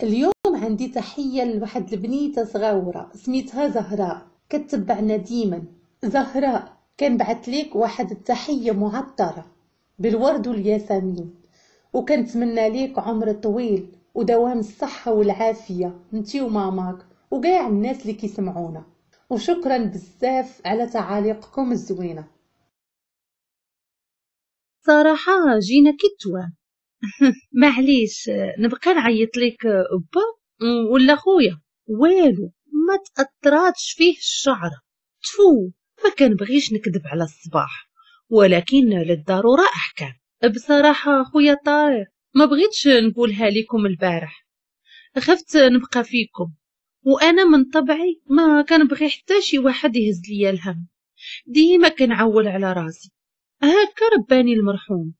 اليوم عندي تحية لواحد البنيتة صغيرة سميتها زهراء، كتبعنا ديما. زهراء كنبعث ليك واحد التحية معطرة بالورد والياسمين، وكنتمنى ليك عمر طويل ودوام الصحة والعافية انتي وماماك وكاع الناس اللي كيسمعونا، وشكرا بزاف على تعاليقكم الزوينة. صراحة جينا كي التوام. معليش نبقى نعيط لك با ولا خويا، والو ما تأثراتش فيه الشعرة. تفو، ما كنبغيش نكذب على الصباح، ولكن للضرورة أحكام. بصراحة خويا طارق ما بغيتش نقولها لكم البارح، خفت نبقى فيكم، وأنا من طبعي ما كنبغي حتى شي واحد يهز ليا الهم، ديما كنعول على راسي. هكا رباني المرحوم.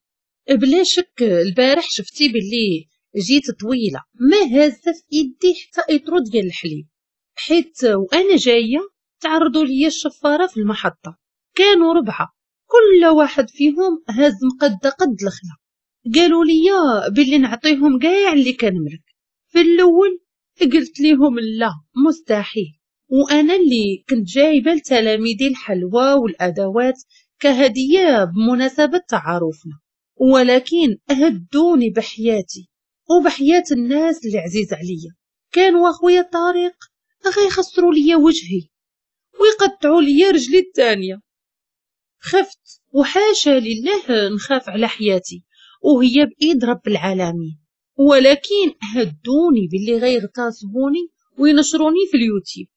بلا شك البارح شفتي باللي جيت طويلة ما هازه في ايدي حتى اطرو ديال الحليب، حيت وانا جاية تعرضوا لي الشفاره في المحطة، كانوا 4، كل واحد فيهم هاز مقده قد الخلا. قالوا لي باللي نعطيهم كاع اللي كنملك. في الاول قلت لهم لا مستحيل، وانا اللي كنت جايبه لتلاميذي الحلوى والادوات كهدية بمناسبة تعارفنا، ولكن هدوني بحياتي وبحياة الناس اللي عزيز عليا. كانوا اخويا طارق غيخسروا ليا وجهي ويقطعوا ليا رجلي الثانية. خفت، وحاشا لله نخاف على حياتي وهي بايد رب العالمين، ولكن هدوني باللي غيغتصبوني وينشروني في اليوتيوب.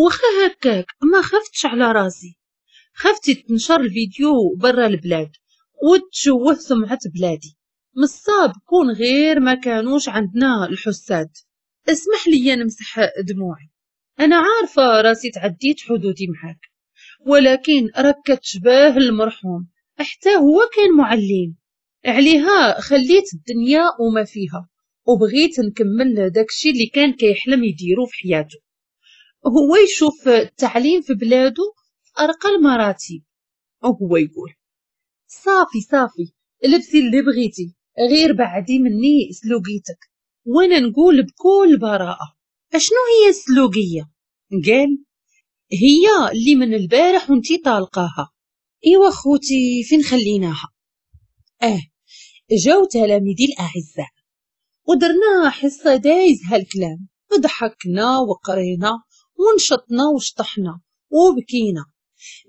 وخا هكاك ما خفتش على راسي، خفت تنشر الفيديو برا البلاد وتشوه سمعة بلادي. مصاب كون غير ما كانوش عندنا الحساد. اسمح لي نمسح دموعي، انا عارفة راسي تعديت حدودي معاك، ولكن راك كتشبه المرحوم، حتى هو كان معلم عليها. خليت الدنيا وما فيها وبغيت نكمل داكشي اللي كان كيحلم يديرو في حياته، هو يشوف التعليم في بلادو في ارقى المراتب، وهو يقول صافي صافي لبسي اللي بغيتي، غير بعدي مني سلوقيتك. وانا نقول بكل براءة اشنو هي السلوقية؟ قال هي اللي من البارح وانتي طالقاها. ايوا خوتي فين خليناها؟ جاو تلاميذي الاعزاء ودرنا حصة دايز هالكلام، ضحكنا وقرينا ونشطنا وشطحنا وبكينا.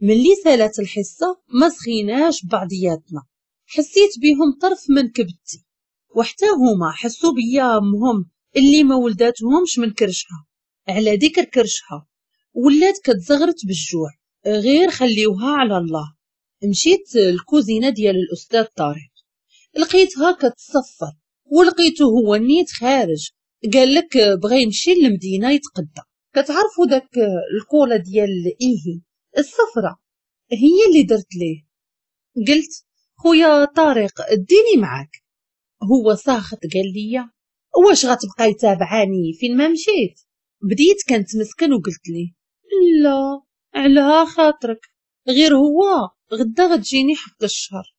ملي سالت الحصة ما سخيناش بعضياتنا، حسيت بهم طرف من كبدتي، وحتى هما حسوا بيا امهم اللي ما ولداتهمش من كرشها. على ذكر كرشها ولات كتزغرت بالجوع، غير خليوها على الله. مشيت الكوزينة ديال الاستاذ طارق، لقيتها كتصفر، ولقيته هو نيت خارج، قال لك بغى يمشي للمدينة يتقدى. كتعرفوا داك الكولا ديال ايهي الصفرة هي اللي درت ليه. قلت خويا طارق اديني معاك. هو ساخط قال لي واش غتبقاي تابعاني فين ما مشيت؟ بديت كنتمسكن وقلت ليه لا على خاطرك، غير هو غدا غتجيني حق الشهر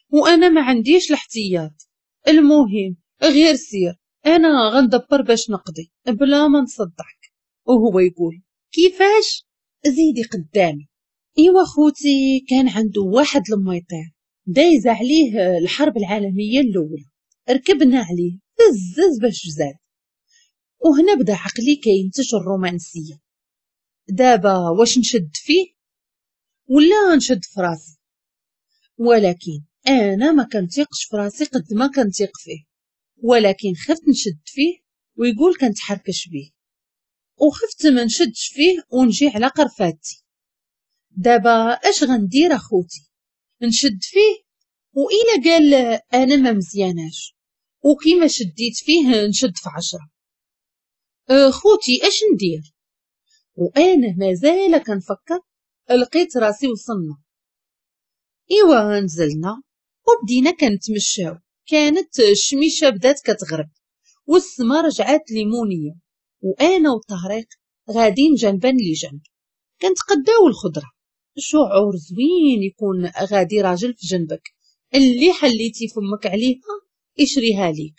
وانا ما عنديش الاحتياط. المهم غير سير، انا غندبر باش نقضي بلا ما نصدعك. وهو يقول كيفاش؟ زيدي قدامي. ايوا خوتي كان عنده واحد الميطير دايز عليه الحرب العالمية الاولى، ركبنا عليه بزز باش زاد. وهنا بدا عقلي كينتج الرومانسية. دابا واش نشد فيه ولا نشد في راسي؟ ولكن انا ما كنتيقش في راسي قد ما كنتيق فيه، ولكن خفت نشد فيه ويقول كنتحركش بيه، وخفت ما نشدش فيه ونجي على قرفاتي. دابا اش غندير اخوتي؟ نشد فيه وإلا قال انا ما مزياناش، وكيما شديت فيه نشد في 10. خوتي اش ندير؟ وانا مازال كنفكر لقيت راسي وصلنا. ايوا نزلنا وبدينا كنتمشاو. كانت الشميشه بدات كتغرب والسما رجعات ليمونيه، وانا وطارق غادين جنبا لجنب كنتقداو الخضرة. شعور زوين يكون غادي راجل في جنبك اللي حليتي فمك عليها يشريها ليك.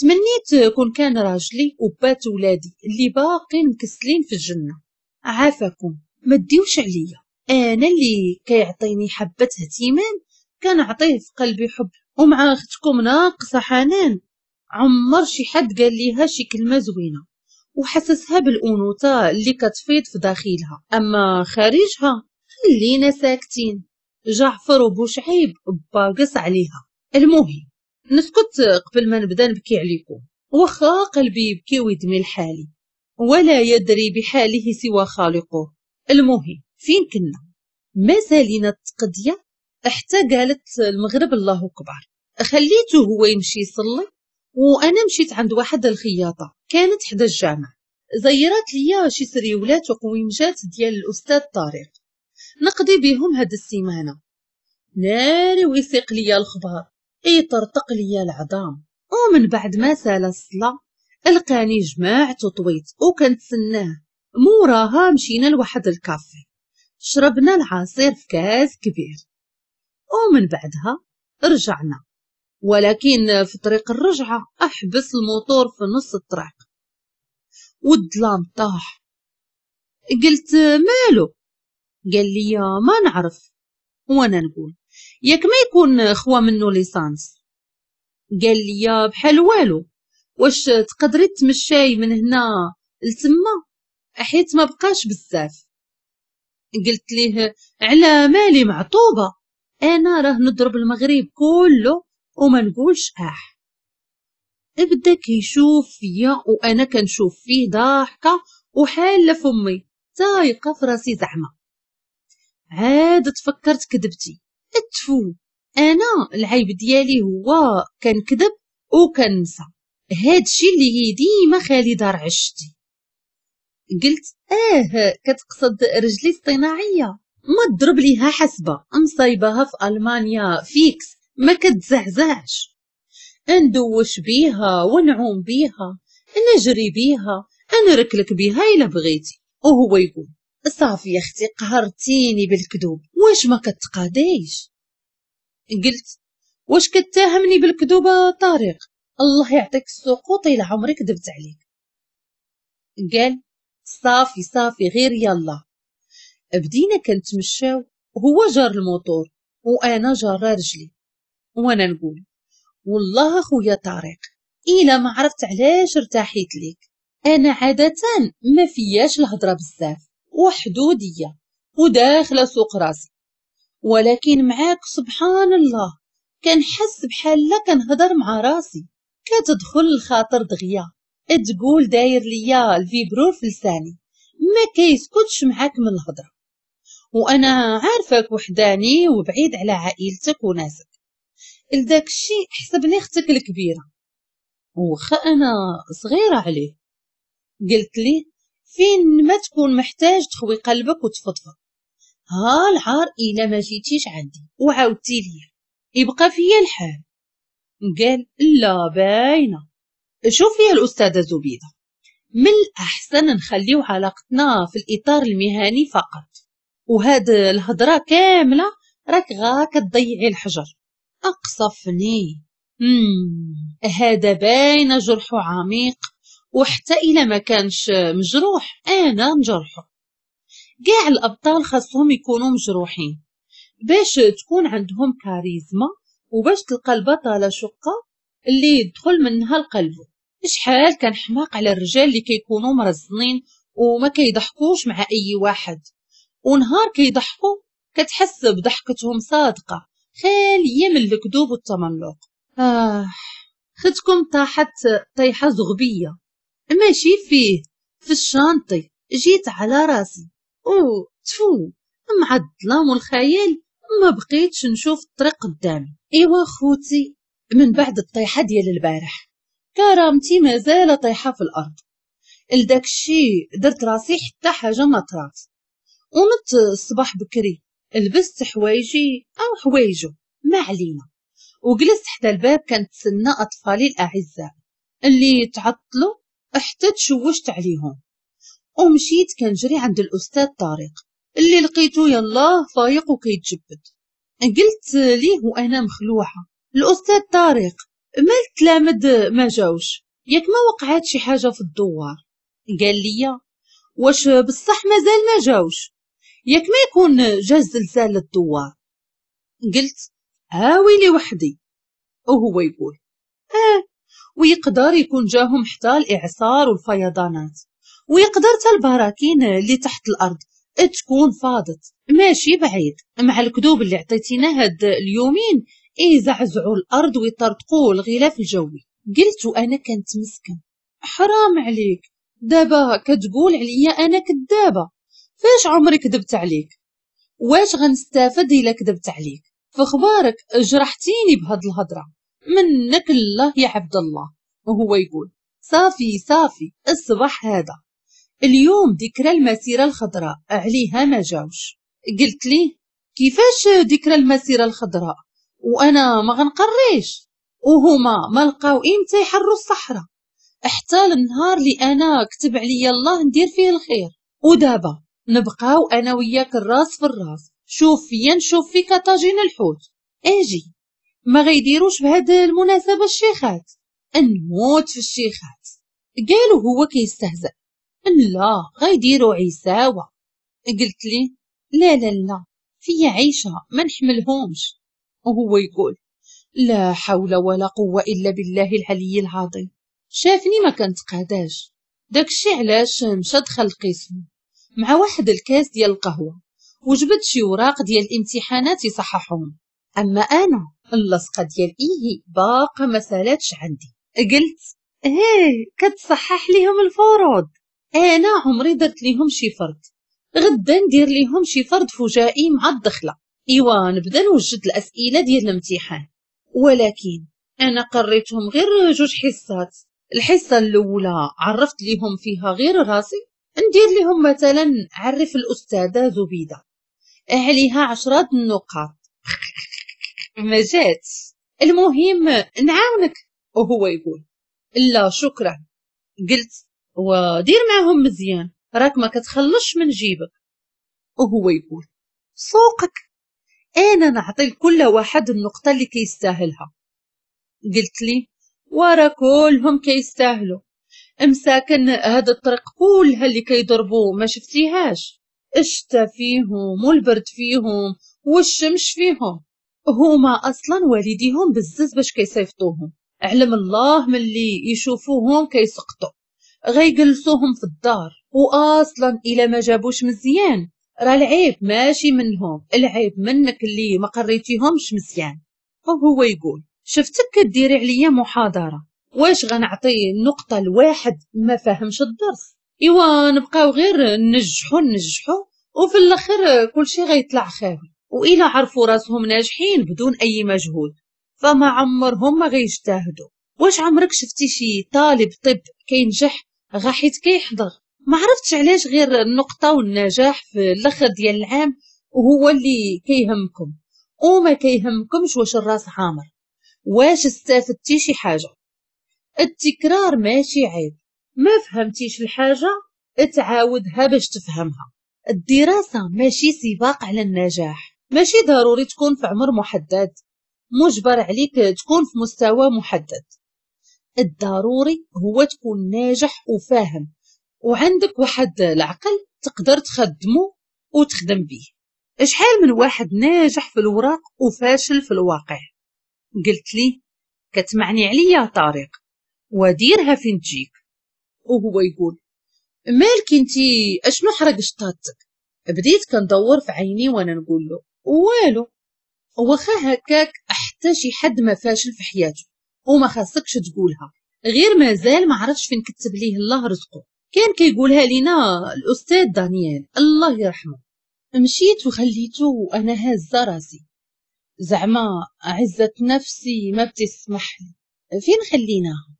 تمنيت كون كان راجلي وبات ولادي اللي باقين مكسلين في الجنة. عافاكم ما ديوش عليا، انا اللي كيعطيني حبة اهتمام كنعطيه في قلبي حب، ومع اختكم ناقصة حنان عمر شي حد قال ليها شي كلمة زوينة وحسسها بالأنوثة اللي كتفيض في داخلها، اما خارجها خلينا ساكتين. جعفر وبوشعيب باقص عليها. المهم نسكت قبل ما نبدا نبكي عليكم، واخا قلبي يبكي ويدمي لحالي ولا يدري بحاله سوى خالقه. المهم فين كنا؟ ما سالينا التقضيه حتى قالت المغرب الله اكبر. خليته هو يمشي يصلي وانا مشيت عند واحد الخياطة كانت حدا الجامع، زيرات ليا شي سريولات وقويمجات ديال الاستاذ طارق نقضي بهم هاد السيمانة. ناري ويسيق ليا الخبار، يطرطق ليا العظام. ومن بعد ما سال الصلاة لقاني جمعت وطويت وكنتسناه. موراها مشينا لواحد الكافي، شربنا العصير في كاس كبير، ومن بعدها رجعنا. ولكن في طريق الرجعة أحبس الموتور في نص الطريق والظلام طاح. قلت مالو؟ قال لي ما نعرف. وانا نقول ياك ما يكون خوا منه l'essence. قال لي بحال والو، واش تقدري تمشاي من هنا لتما حيت ما بقاش بزاف. قلت ليه على مالي معطوبه، انا راه نضرب المغرب كله وما نقولش اح. بدا كيشوف فيا وانا كنشوف فيه ضاحكة وحاله فمي تايقه في راسي زعما. عاد تفكرت كذبتي، اتفو انا العيب ديالي هو كنكذب وكنسى، هادشي اللي ديما خالي دار عشتي. قلت كتقصد رجلي الصناعية، ما تضرب ليها حسبه، مصايبها في المانيا fixe ما كتزعزعش، ندوش بيها ونعوم بيها نجري بيها نركلك بيها الا بغيتي. وهو يقول صافي يا اختي قهرتيني بالكذوب، واش ما كتقاديش؟ قلت واش كتهمني بالكذوب طارق؟ الله يعطيك السقوط الى عمري كذبت عليك. قال صافي صافي غير يلا. بدينا كنتمشاو، هو جار الموتور وانا جاره رجلي، وانا نقول والله اخويا طارق الا ما عرفت علاش ارتاحيت ليك، انا عادة ما فياش الهضرة بزاف وحدوديه وداخله سوق راسي، ولكن معاك سبحان الله كنحس بحال لا كنهضر مع راسي، كتدخل الخاطر دغيا، تقول داير ليا ال vibreur في لساني ما كيسكتش معاك من الهضرة، وانا عارفاك وحداني وبعيد على عائلتك وناسك، لداك الشيء حسبني اختك الكبيرة وخا انا صغيرة عليه. قلت ليه فين ما تكون محتاج تخوي قلبك وتفضفض، ها العار الا ما جيتيش عندي وعاودتي ليا يبقى فيا الحال. قال لا باينة. شوفي يا الاستاذة زبيده، من الاحسن نخليو علاقتنا في الاطار المهني فقط، وهاد الهضرة كاملة راك غا كتضيعي الحجر. اقصفني، هذا باين جرحه عميق، وحتى الا ما كانش مجروح انا نجرحه. كاع الابطال خاصهم يكونوا مجروحين باش تكون عندهم كاريزما، وباش تلقى البطلة شقه اللي يدخل منها القلب. شحال كان حماق على الرجال اللي كيكونوا مرزنين وما كيضحكوش مع اي واحد، ونهار كيضحكوا كتحس بضحكتهم صادقة خالية من الكذوب والتملق. ختكم طاحت طيحه زغبيه ماشي فيه في الشانطي، جيت على راسي او تفو مع الظلام والخيال ما بقيتش نشوف الطريق قدامي. ايوا خوتي، من بعد الطيحه ديال البارح كرامتي مازال طيحه في الارض، لداك الشي درت راسي حتى حاجة ما طرات. ونط الصباح بكري لبست حوايجي او حوايجو ما علينا، وجلست حدا الباب كنتسنى اطفالي الاعزاء اللي تعطلوا حتى تشوشت عليهم. ومشيت كنجري عند الاستاذ طارق اللي لقيته يلاه فايق وكيتجبد. قلت ليه وانا مخلوعه، الاستاذ طارق مال التلامذ ما جاوش؟ ياك ما وقعات شي حاجة في الدوار؟ قال لي واش بصح مازال ما جاوش؟ ياك ما يكون جا الزلزال للدوار؟ قلت هاويلي وحدي. وهو يقول ويقدر يكون جاهم حتى الإعصار والفيضانات، ويقدر حتى البراكين اللي تحت الأرض تكون فاضت. ماشي بعيد مع الكذوب اللي عطيتينا هاد اليومين يزعزعوا الأرض ويطرطقوا الغلاف الجوي. قلت وأنا كنت مسكن، حرام عليك، دابا كتقول عليا أنا كذابة؟ فاش عمري كذبت عليك؟ واش غنستافد إلا كذبت عليك؟ فخبارك جرحتيني بهاد الهضرة، منك الله يا عبد الله. وهو يقول صافي صافي، الصباح هذا اليوم ذكرى المسيرة الخضراء عليها ما جاوش. قلت لي كيفاش ذكرى المسيرة الخضراء وانا ما غنقريش؟ وهما ما لقاو امتى يحروا الصحراء حتى النهار اللي انا كتب عليا الله ندير فيه الخير. ودابا نبقاو انا وياك الراس في الراس، شوف فيا نشوف فيك طاجين الحوت. اجي ما غيديروش بهاد المناسبة الشيخات، نموت في الشيخات. قالوا هو كيستهزأ، لا غيديروا عيساوة. قلت لي لا لا لا، فيا عيشة ما نحملهمش. وهو يقول لا حول ولا قوة إلا بالله العلي العظيم. شافني ما كنتقاداش، داكشي علاش مشى دخل القسم مع واحد الكاس ديال القهوة وجبد شي وراق ديال الامتحانات يصححهم. أما أنا اللصقة ديال إيه باقا ما سالاتش عندي. قلت هيه كتصحح ليهم الفروض، أنا عمري درت ليهم شي فرض، غدا ندير ليهم شي فرض فجائي مع الدخلة، إيوا نبدا نوجد الأسئلة ديال الامتحان. ولكن أنا قريتهم غير جوج حصات، الحصة الأولى عرفت ليهم فيها غير راسي، ندير ليهم مثلا عرف الأستاذة زبيدة عليها 10 النقاط ما جات، المهم نعاونك. وهو يقول لا شكرا. قلت ودير معهم مزيان راك ما كتخلصش من جيبك. وهو يقول سوقك، انا نعطي لكل واحد النقطة اللي كيستاهلها. قلت لي ورا كلهم كيستاهلوا، امساكن هذا الطريق كلها اللي كيضربوا ما شفتيهاش، الشتا فيهم والبرد فيهم والشمس فيهم، هما اصلا والديهم بزز باش كيصيفطوهم، علم الله ملي يشوفوهم كيسقطوا غيجلسوهم في الدار، واصلا الا ما جابوش مزيان راه العيب ماشي منهم، العيب منك اللي ما قريتيهمش مزيان. وهو يقول شفتك كديري عليا محاضرة، واش غنعطي النقطة لواحد ما فاهمش الدرس؟ ايوا نبقاو غير ننجحو ننجحو وفي الاخر كلشي غيطلع خاوي، والا عرفوا راسهم ناجحين بدون اي مجهود فما عمرهم ما غيجتهدوا. واش عمرك شفتي شي طالب طب كينجح غا حيت كيحضر؟ ما عرفتش علاش غير النقطة والنجاح في الاخر ديال العام وهو اللي كيهمكم، وما كيهمكمش واش الراس عامر، واش استفدتي شي حاجة. التكرار ماشي عيب، ما فهمتيش الحاجة تعاودها باش تفهمها. الدراسة ماشي سباق على النجاح، ماشي ضروري تكون في عمر محدد، مجبر عليك تكون في مستوى محدد. الضروري هو تكون ناجح وفاهم وعندك واحد العقل تقدر تخدمه وتخدم به. شحال من واحد ناجح في الوراق وفاشل في الواقع. قلت لي كتمعني عليا طارق وديرها فين تجيك. وهو يقول مالك انتي اشنو حرق شطاتك؟ بديت كندور في عيني وانا نقول له والو. واخا هكاك حتى شي حد ما فاشل في حياته وما خاصكش تقولها، غير مازال ما عرفش فين كتب ليه الله رزقه. كان كيقولها لينا الاستاذ دانيال الله يرحمه. مشيت وخليته وانا هازه راسي، زعما عزة نفسي ما بتسمح لي. فين خليناها؟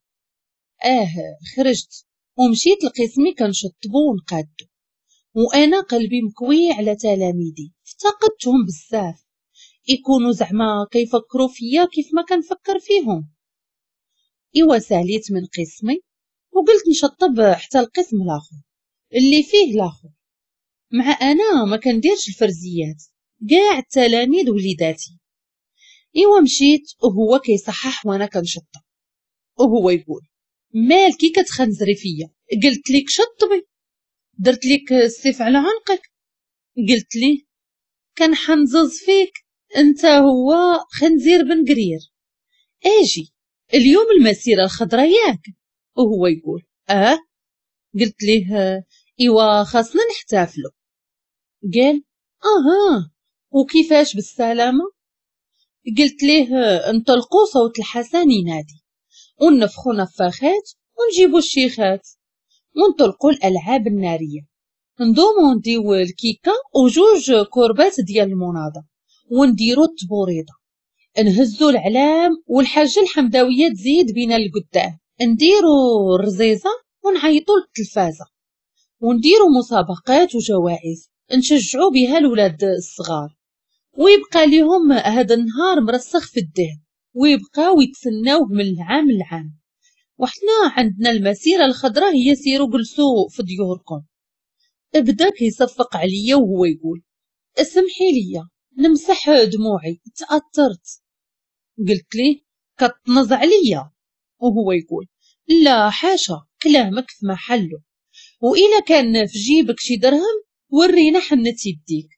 خرجت ومشيت لقسمي كنشطبو ونقادو، وانا قلبي مكوي على تلاميذي، افتقدتهم بزاف، يكونوا زعما كيفكروا فيا كيف ما كنفكر فيهم. ايوا ساليت من قسمي وقلت نشطب حتى القسم الاخر اللي فيه الاخر، مع انا ما كنديرش الفرزيات كاع التلاميذ وليداتي. ايوا مشيت وهو كيصحح وانا كنشطب، وهو يقول مالكي كتخنزري فيا؟ قلت لك شطبي، درت لك السيف على عنقك. قلت لي كنحنزز فيك، انت هو خنزير بن قرير. اجي اليوم المسيرة الخضراء ياك؟ وهو يقول اه. قلت ليه ايوا خاصنا نحتفلو. قال اها وكيفاش بالسلامة؟ قلت ليه انطلقوا صوت الحسن ينادي، ونفخوا نفاخات ونجيبوا الشيخات، ونطلقوا الالعاب النارية، ندومو نديو الكيكه وجوج كوربات ديال المناضه، ونديرو التبوريضه، نهزو العلام والحاجة الحمداويه تزيد بينا لقدام، نديرو الرزيزه ونعيطو للتلفازه، ونديرو مسابقات وجوائز نشجعو بها الولاد الصغار، ويبقى لهم هذا النهار مرسخ في الذهن، ويبقاو يتسناوه من العام للعام. وحنا عندنا المسيرة الخضراء هي سيروا جلسوا في ديوركم. بدا كيصفق عليا وهو يقول اسمحي لي نمسح دموعي تاثرت. قلت ليه كتنز عليا؟ وهو يقول لا حاشا، كلامك في محله، وإلا كان في جيبك شي درهم ورينا حنة يديك.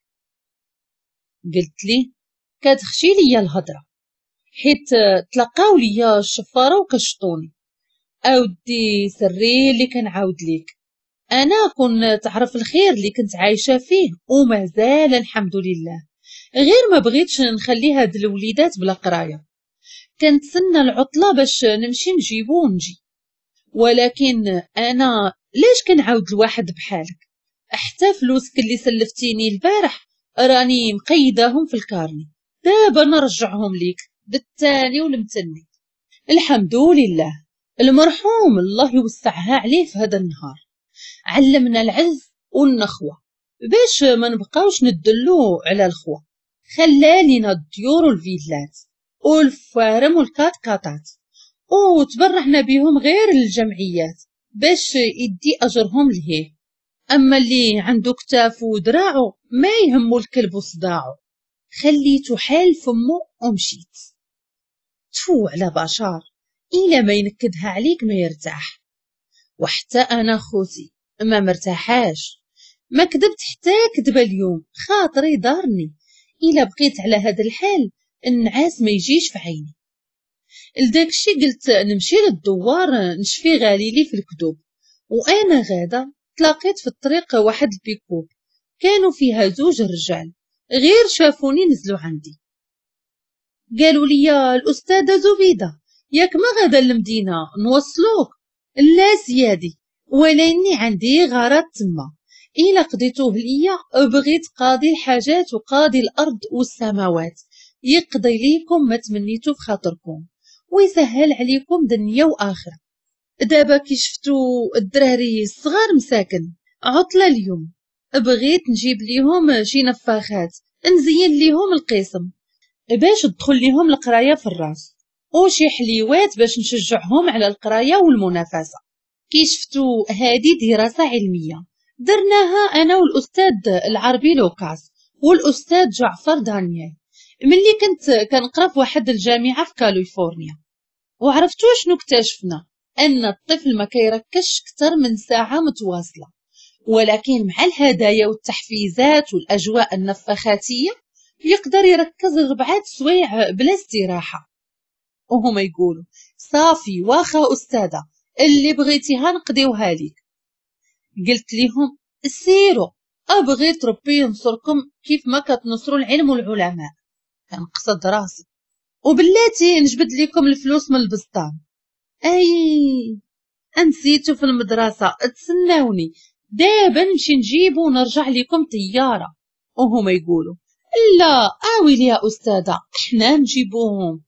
قلت ليه كتخشي ليا الهضرة حيت تلقاو ليا الشفاره وكشطوني. اودي سري اللي كنعاود ليك، انا كون تعرف الخير اللي كنت عايشه فيه ومازال الحمد لله، غير ما بغيتش نخلي هاد الوليدات بلا قرايه. كنتسنى العطلة باش نمشي نجيبو ونجي، ولكن انا ليش كنعاود لواحد بحالك؟ حتى فلوسك اللي سلفتيني البارح راني مقيداهم في ال carnet، دابا نرجعهم ليك بالتاني والمتني. الحمد لله المرحوم الله يوسعها عليه في هذا النهار علمنا العز والنخوه باش ما نبقاوش ندلو على الخوه. خلالينا الديور والفيلات والفارم والكاتكاتات، وتبرعنا بهم غير الجمعيات باش يدي اجرهم لهيه. اما اللي عنده كتاف ودراعو ما يهمو الكلب وصداعو. خليته حال فمو ومشيت. تفو على بشار، إلا ما ينكدها عليك ما يرتاح. وحتى أنا خوتي ما مرتاحاش، ما كذبت حتى كذبة اليوم، خاطري دارني. إلا بقيت على هذا الحال النعاس ما يجيش في عيني. لداك الشي قلت نمشي للدوار نشفي غاليلي في الكذوب. وأنا غاده تلاقيت في الطريق واحد البيكوب كانوا فيها زوج رجال، غير شافوني نزلوا عندي. قالوا لي الأستاذة زبيدة ياك ما غادا للمدينة نوصلوك؟ لا سيادي، ولاني عندي غرض تما، إلا قضيتوه ليا بغيت قاضي الحاجات وقاضي الأرض والسماوات يقضي ليكم ما تمنيتو في خاطركم ويسهل عليكم دنيا وآخرة. دابا كي شفتو الدراري الصغار مساكن عطلة اليوم، بغيت نجيب ليهم شي نفاخات نزين ليهم القسم باش تدخل ليهم القراية في الراس، وشي حليوات باش نشجعهم على القراية والمنافسه. كي شفتو هذه دراسة علمية درناها انا والاستاذ العربي لوكاس والاستاذ جعفر دانيال ملي كنت كنقرا في واحد الجامعة في كاليفورنيا. وعرفتو شنو اكتشفنا؟ ان الطفل ما كيركزش اكثر من ساعة متواصلة، ولكن مع الهدايا والتحفيزات والاجواء النفخاتيه يقدر يركز 4 سوايع بلا استراحة. وهما يقولوا صافي واخا استاذه اللي بغيتيها نقضيوها ليك. قلت لهم سيروا، ابغيت ربي ينصركم كيف ما كتنصروا العلم والعلماء. كنقصد راسي وبلاتي نجبد لكم الفلوس من البسطام. اي انسيتو في المدرسة، تسناوني دابا نمشي نجيبو ونرجع لكم طيارة. وهما يقولوا لا اويلي يا استاذه احنا نجيبوهم.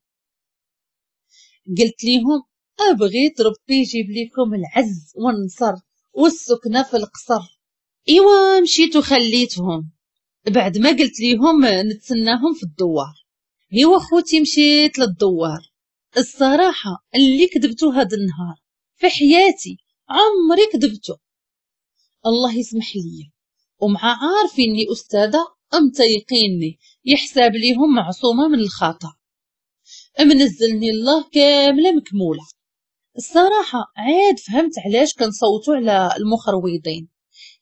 قلت لهم ابغيت ربي يجيب لكم العز والنصر والسكنه في القصر. ايوا مشيت وخليتهم بعد ما قلت لهم نتسناهم في الدوار. ايوا خوتي مشيت للدوار. الصراحة اللي كذبتو هذا النهار في حياتي عمري كذبتو، الله يسمح لي. ومع عارفيني استاذه متيقيني يحساب ليهم معصومة من الخطا. منزلني الله كاملة مكموله. الصراحة عاد فهمت علاش كنصوتوا على المخرويضين،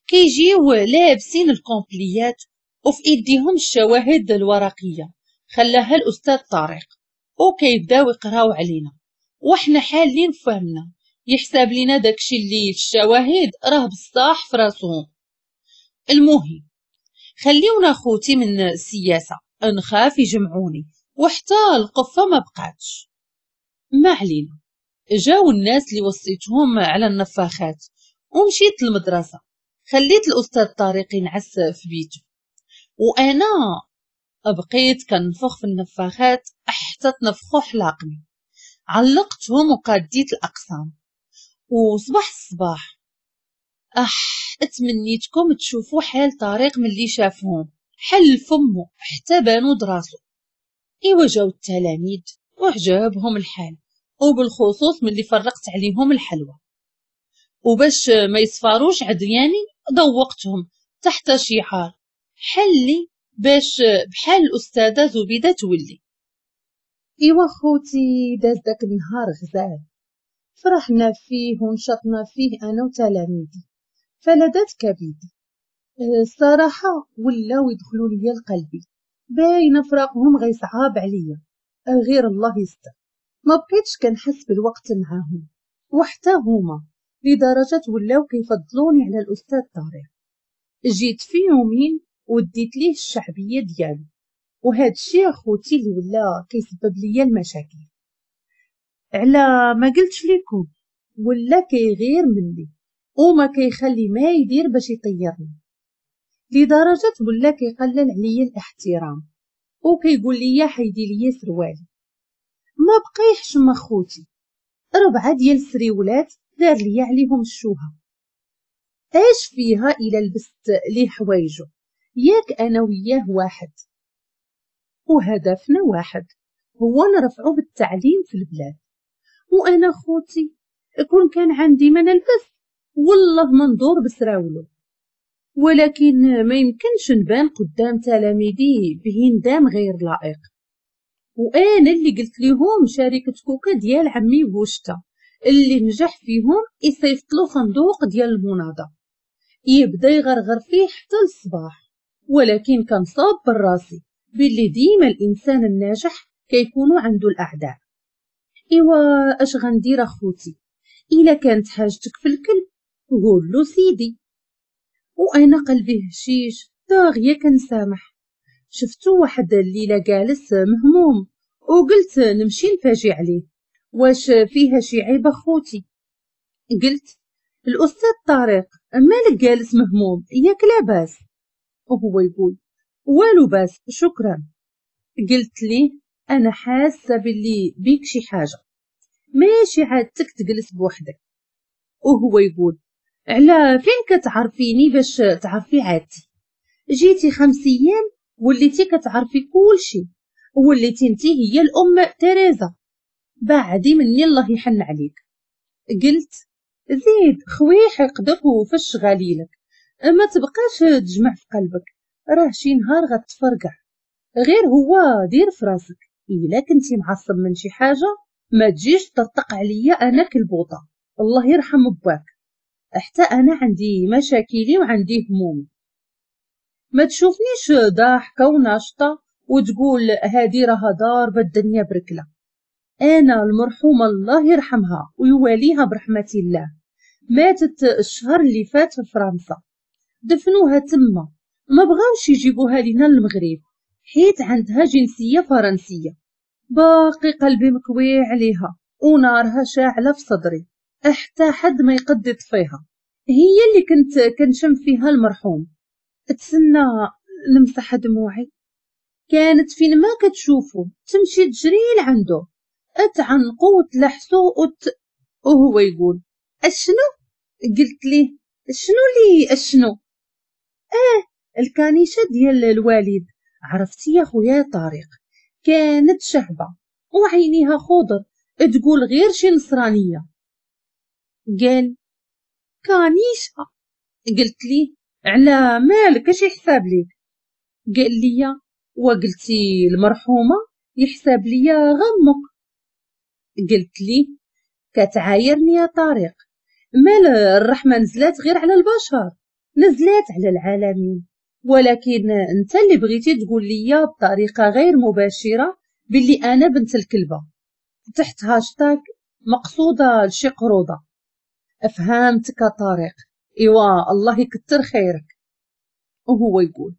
كيجيو لابسين الكومبليات وفي ايديهم الشواهد الورقية خلاها الاستاذ طارق، وكيبداو يقراو علينا وحنا حالين فهمنا، يحساب لينا داكشي اللي في الشواهد راه بصح في راسهم. المهم خليونا خوتي من السياسة، نخاف يجمعوني وحتى القفه ما بقاتش. ما علينا، جاو الناس اللي وصيتهم على النفاخات ومشيت للمدرسة، خليت الاستاذ طارق ينعس في بيته وانا بقيت كنفخ في النفاخات حتى تنفخو حلاقني. علقتهم وقاديت الاقسام. وصباح الصباح اتمنيتكم تشوفوا حال طارق ملي شافهم، حل فمه حتى بانو دراسو. ايوا جاو التلاميذ وعجبهم الحال، وبالخصوص ملي فرقت عليهم الحلوى، وباش ما يصفاروش عدياني ذوقتهم تحت شعار حلي باش بحال الأستاذة زبيدة تولي. ايوا خوتي داز داك النهار غزال، فرحنا فيه ونشطنا فيه انا وتلاميذي فلذات كبدي. الصراحة ولاو يدخلوا ليا لقلبي، باينة فراقهم غيصعاب عليا، غير الله يستر. ما بقيتش كنحس بالوقت معاهم وحتى هما، لدرجة ولاو كيفضلوني على الاستاذ طارق. جيت في يومين وديت ليه الشعبية ديالو، وهذا الشيء اخوتي اللي ولا كيسبب ليا المشاكل. على ما قلتش لكم ولا كيغير مني وما كيخلي ما يدير باش يطيرني، لدرجة ولا كيقلل عليا الاحترام وكيقول لي حيدي ليا سروالي. ما بقى يحشم اخوتي، 4 ديال السريولات دار ليا عليهم الشوهه. اش فيها الا لبست ليه حوايجو؟ ياك انا وياه واحد وهدفنا واحد، هو نرفعو بالتعليم في البلاد. وانا خوتي كون كان عندي ما نلبس والله ما ندور بسراولو، ولكن ما يمكنش نبان قدام تلاميذي بهندام غير لائق. وانا اللي قلت لهم شركة كوكا ديال عمي بوشتا اللي نجح فيهم يصيفط له صندوق ديال المناضه يبدا يغرغر فيه حتى الصباح. ولكن كنصاب بالراسي باللي ديما الانسان الناجح كيكونوا عنده الاعداء. ايوا اش غندير اخوتي؟ الا كانت حاجتك في الكلب قول له سيدي. وانا قلبي هشيش داغيه كنسامح. شفتو واحد الليلة جالس مهموم وقلت نمشي نفاجي عليه، واش فيها شي عيب اخوتي؟ قلت الاستاذ طارق مالك جالس مهموم ياك لاباس؟ وهو يقول والو باس شكرا. قلت ليه انا حاسه باللي بيك شي حاجة، ماشي عادتك تجلس بوحدك. وهو يقول على فين كتعرفيني باش تعرفي عادتي؟ جيتي 5 ايام وليتي كتعرفي كلشي، وليتي انتي هي الام تيريزا، بعدي مني الله يحن عليك. قلت زيد خويح يقدر وفش غليلك، ما تبقاش تجمع في قلبك، راه شي نهار غتفرقع. غير هو دير في راسك الا كنتي معصب من شي حاجة ما تجيش تطرطق عليا انا كالبوطه، الله يرحم باك، حتى انا عندي مشاكلي وعندي همومي. ما تشوفنيش ضاحكة وناشطه وتقول هادي راها ضاربه الدنيا بركله. انا المرحومة الله يرحمها ويواليها برحمة الله، ماتت الشهر اللي فات في فرنسا، دفنوها تما، ما بغاوش يجيبوها لينا للمغرب حيت عندها جنسية فرنسية. باقي قلبي مكوي عليها ونارها شاعله في صدري، حتى حد ما يقد يطفيها. هي اللي كنت كنشم فيها المرحوم. تسنى نمسح دموعي. كانت فين ما كتشوفو تمشي تجري لعندو، تعنقو وتلحسو وهو يقول اشنو؟ قلت ليه شنو لي اشنو؟ الكانيشه ديال الوالد. عرفتي يا خويا طارق كانت شهبه وعينيها خضر تقول غير شي نصرانية. قال كانيشه. قلت ليه على مالك اش يحساب ليك؟ قال لي وقلتي المرحومة يحسب ليا غمك. قلت لي كتعايرني يا طارق، مال الرحمة نزلات غير على البشر، نزلات على العالمين، ولكن انت اللي بغيتي تقول لي بطريقة غير مباشرة باللي انا بنت الكلبة تحت هاشتاغ مقصوده لشي قروضه. افهمتك طارق، ايوا الله يكتر خيرك. وهو يقول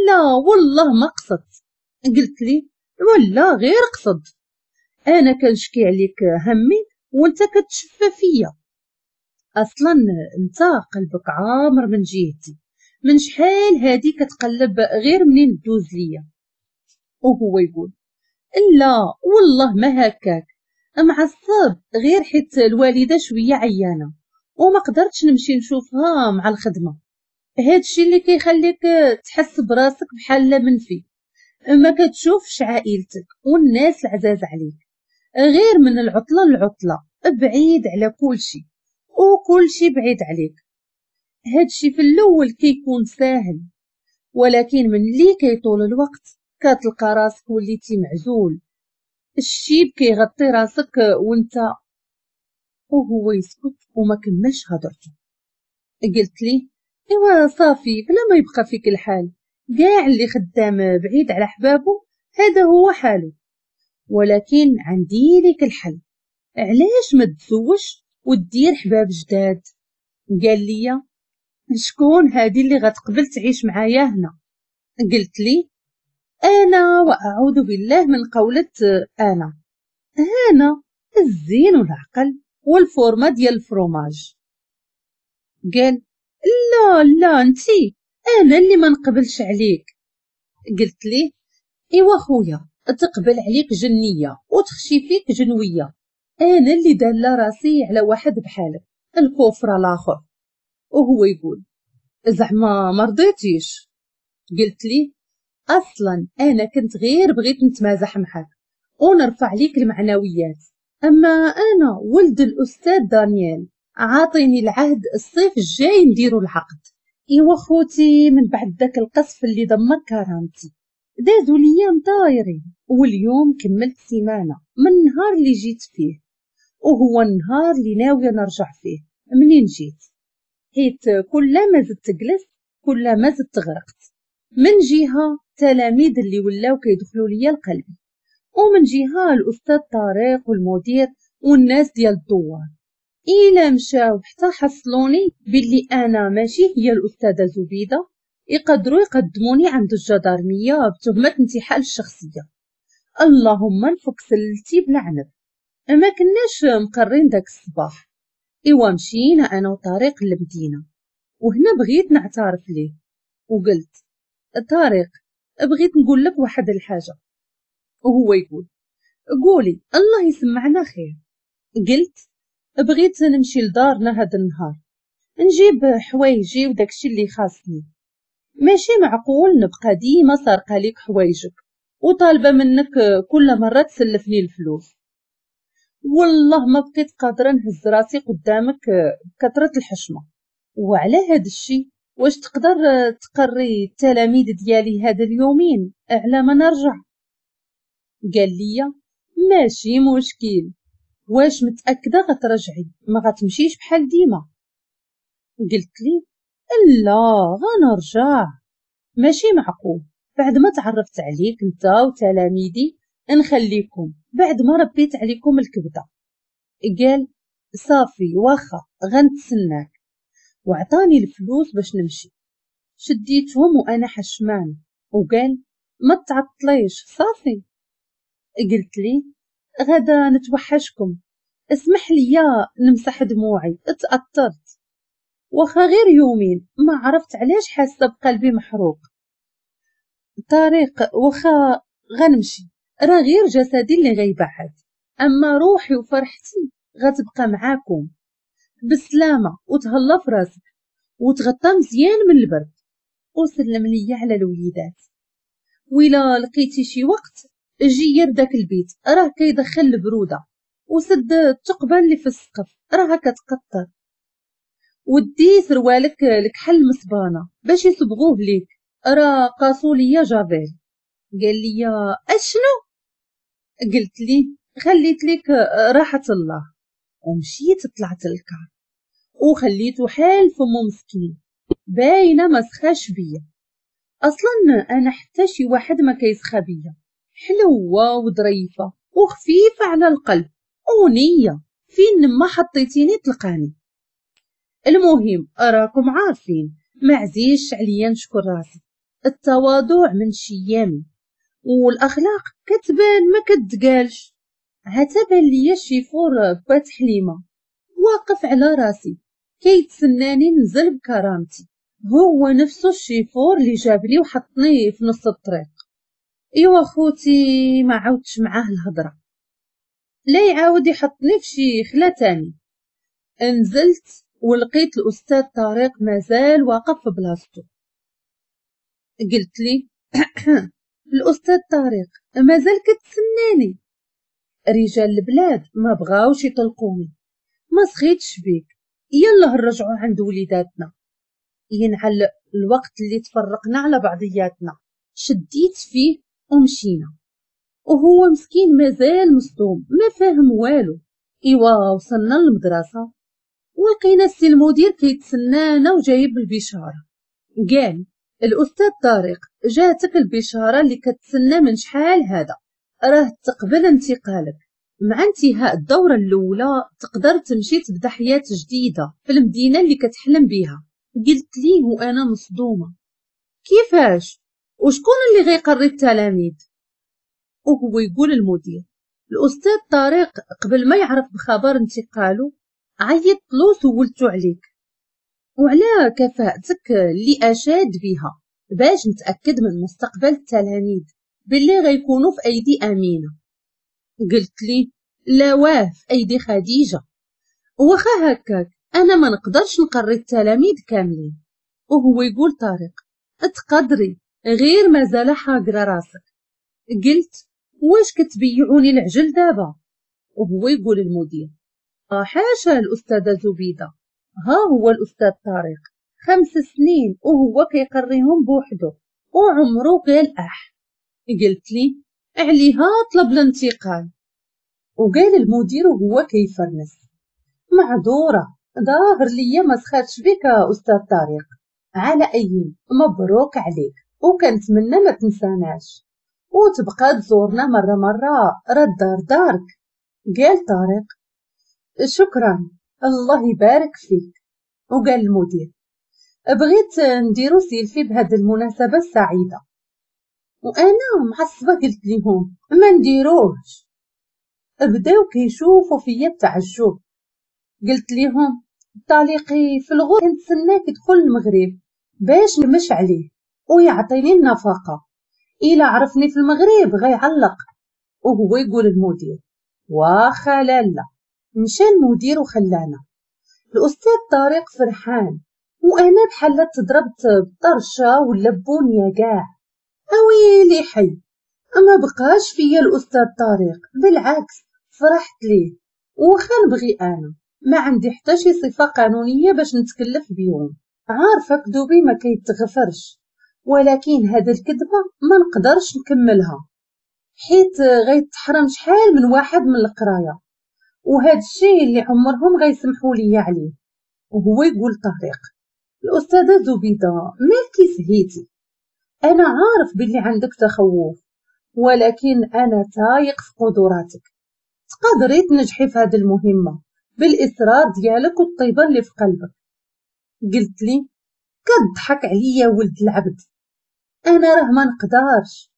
لا والله ما قصدت. قلت لي ولا غير قصد، انا كنشكي عليك همي وانت كتشفى فيا. اصلا انت قلبك عامر من جهتي، من شحال هادي كتقلب غير منين دوز ليا. وهو يقول لا والله ما هكاك، معصب غير حيت الوالدة شوية عيانه وما قدرتش نمشي نشوفها مع الخدمة. هادشي اللي كيخليك تحس براسك بحال منفي، ما كتشوفش عائلتك والناس العزاز عليك غير من العطلة للعطله، بعيد على كلشي وكلشي بعيد عليك. هادشي في الاول كيكون ساهل، ولكن من اللي كيطول الوقت كتلقى راسك وليتي معزول، الشيب كيغطي راسك وانت. وهو يسكت وما كملش هضرته. قلت لي ايوا صافي بلا ما يبقى فيك الحال، كاع اللي خدام بعيد على حبابة هذا هو حاله، ولكن عندي لك الحل، علاش ما تزوجش ودير حباب جداد؟ قال لي شكون هادي اللي غتقبل تعيش معايا هنا؟ قلت لي انا، واعوذ بالله من قولة انا، انا الزين والعقل والفورمه ديال الفروماج. قال لا لا انتي، انا اللي ما نقبلش عليك. قلت لي ايوا خويا تقبل عليك جنيه وتخشي فيك جنويه، انا اللي داله راسي على واحد بحالك الكفر الاخر. وهو يقول زعما ما رضيتيش؟ قلت لي اصلا انا كنت غير بغيت نتمازح معاك ونرفع ليك المعنويات، اما انا ولد الاستاذ دانيال عاطيني العهد الصيف الجاي نديرو العقد. ايوا خوتي من بعد داك القصف اللي دمر كرامتي دازو ليام طايرين، واليوم كملت سيمانه من النهار اللي جيت فيه، وهو النهار اللي ناوية نرجع فيه منين جيت، حيت كلما زدت جلست كلما زدت غرقت. من جهة تلاميذ اللي ولاو كيدخلوا ليا لقلبي، ومن جهة الاستاذ طارق والمدير والناس ديال الدوار، الا مشاو حتى حصلوني باللي انا ماشي هي الاستاذة زبيده، يقدروا يقدموني عند الجدارميه بتهمه انتحال الشخصية. اللهم نفك سلتي بالعنب. ما كناش مقرين داك الصباح. ايوا مشينا انا وطارق للمدينة، وهنا بغيت نعترف ليه وقلت طارق بغيت نقول لك واحد الحاجة. وهو يقول قولي الله يسمعنا خير. قلت بغيت نمشي لدارنا هذا النهار نجيب حوايجي وداكشي اللي خاصني، ماشي معقول نبقى ديما سارقه ليك حوايجك وطالبه منك كل مرة تسلفني الفلوس. والله ما بقيت قادرة نهز راسي قدامك بكثرة الحشمة. وعلى هذا الشيء واش تقدر تقري التلاميذ ديالي هذا اليومين على ما نرجع؟ قال لي ماشي مشكل، واش متاكدة غترجعي ما غتمشيش بحال ديما؟ قلت لي لا غنرجع، ماشي معقول بعد ما تعرفت عليك انت وتلاميذي نخليكم بعد ما ربيت عليكم الكبده. قال صافي واخا غنتسناك، وعطاني الفلوس باش نمشي. شديتهم وانا حشمان، وقال ما تعطليش صافي. قلت لي غدا نتوحشكم، اسمح لي نمسح دموعي اتأثرت، واخا غير يومين ما عرفت علاش حاسه بقلبي محروق. طارق واخا غنمشي راه غير جسدي اللي غيبعد، اما روحي وفرحتي غتبقى معاكم. بالسلامة وتهلا في راسك وتغطى مزيان من البرد، وسلم ليا على الوليدات، وإلا لقيتي شي وقت جير داك البيت راه كيدخل البرودة، وسد الثقبه اللي في السقف راها كتقطر، ودي سروالك الكحل مصبانه باش يصبغوه ليك راه قاسوا ليا جافيل. قال لي اشنو؟ قلت لي خليت لك راحة الله، ومشيت طلعت الكار وخليته حال فمو مسكين، باينة ما سخاش بيا. اصلا انا حتى شي واحد ما كيسخى بيا، حلوة وظريفه وخفيفة على القلب ونيه، فين ما حطيتيني تلقاني. المهم راكم عارفين ما عزيزش عليا نشكر راسي، التواضع من شيامي والاخلاق كتبان ما كتقالش. عتبان ليا الشيفور بات حليمة واقف على راسي كيتسناني نزل بكرامتي، هو نفسه الشيفور اللي جابني وحطني في نص الطريق. ايوا خوتي ما عاودتش معاه الهضرة، لا يعاود يحطني في شي خلا تاني. نزلت ولقيت الاستاذ طارق مازال واقف في بلاصتو. قلت لي الاستاذ طارق مازال كتسناني، رجال البلاد ما بغاوش يطلقوني، ما سخيتش بيك، يلا نرجعوا عند وليداتنا، ينعل الوقت اللي تفرقنا على بعضياتنا. شديت فيه ومشينا، وهو مسكين مازال مصدوم ما فاهم والو. ايوا وصلنا للمدرسة ولقينا السي المدير كيتسنانا وجايب البشارة. قال الاستاذ طارق جاتك البشارة اللي كتسنى من شحال هذا، راه تقبل انتقالك، مع انتهاء الدورة الاولى تقدر تمشي تبدا حياة جديدة في المدينة اللي كتحلم بيها. قلت ليه وانا مصدومة، كيفاش وشكون اللي غيقري التلاميذ؟ وهو يقول المدير الاستاذ طارق قبل ما يعرف بخبر انتقاله عيطت له سولتو عليك وعلى كفاءتك اللي اشاد بها باش نتاكد من مستقبل التلاميذ باللي غيكونوا في ايدي امينه. قلت لي لا واه في ايدي خديجة، واخا هكاك انا ما نقدرش نقري التلاميذ كاملين. وهو يقول طارق تقدري غير مازال حاقره راسك. قلت واش كتبيعوني العجل دابا؟ وهو يقول المدير حاشا الاستاذة زبيده، ها هو الاستاذ طارق 5 سنين وهو كيقريهم بوحدو وعمرو قال اح. قلت لي عليها طلب الانتقال. وقال المدير وهو كيفرنس معذوره، ظاهر ليا ما سخاتش بك استاذ طارق، على اي مبروك عليك وكنتمنى ما تنساناش وتبقى تزورنا مرة مرة، راه الدار دارك. قال طارق شكرا الله يبارك فيك. وقال المدير بغيت نديرو سيلفي بهذه المناسبة السعيدة، وانا معصبة قلت لهم ما نديروهش. بداو كيشوفوا فيا بتعجب. قلت لهم طليقي في الغور كنتسناك يدخل المغرب باش نمش عليه ويعطيني النفقة، الا عرفني في المغرب غيعلق. وهو يقول المدير واخا لالا. مشى المدير وخلانا. الاستاذ طارق فرحان وانا بحال تضربت بطرشه ولا بونيه كاع. اويلي حي ما بقاش فيا الاستاذ طارق، بالعكس فرحت ليه. وخا نبغي انا ما عندي حتى شي صفة قانونية باش نتكلف بيهم، عارفه كذوبي ما كيتغفرش، ولكن هذا الكذبة ما نقدرش نكملها حيت غيتحرم شحال من واحد من القراية، وهذا الشيء اللي عمرهم غيسمحوا لي عليه. وهو يقول طارق الاستاذة زبيده مالكي سهيتي، انا عارف باللي عندك تخوف، ولكن انا تايق في قدراتك، تقدري تنجحي في هذه المهمة بالاصرار ديالك والطيبه اللي في قلبك. قلت لي كضحك عليا ولد العبد، انا راه ما نقدرش.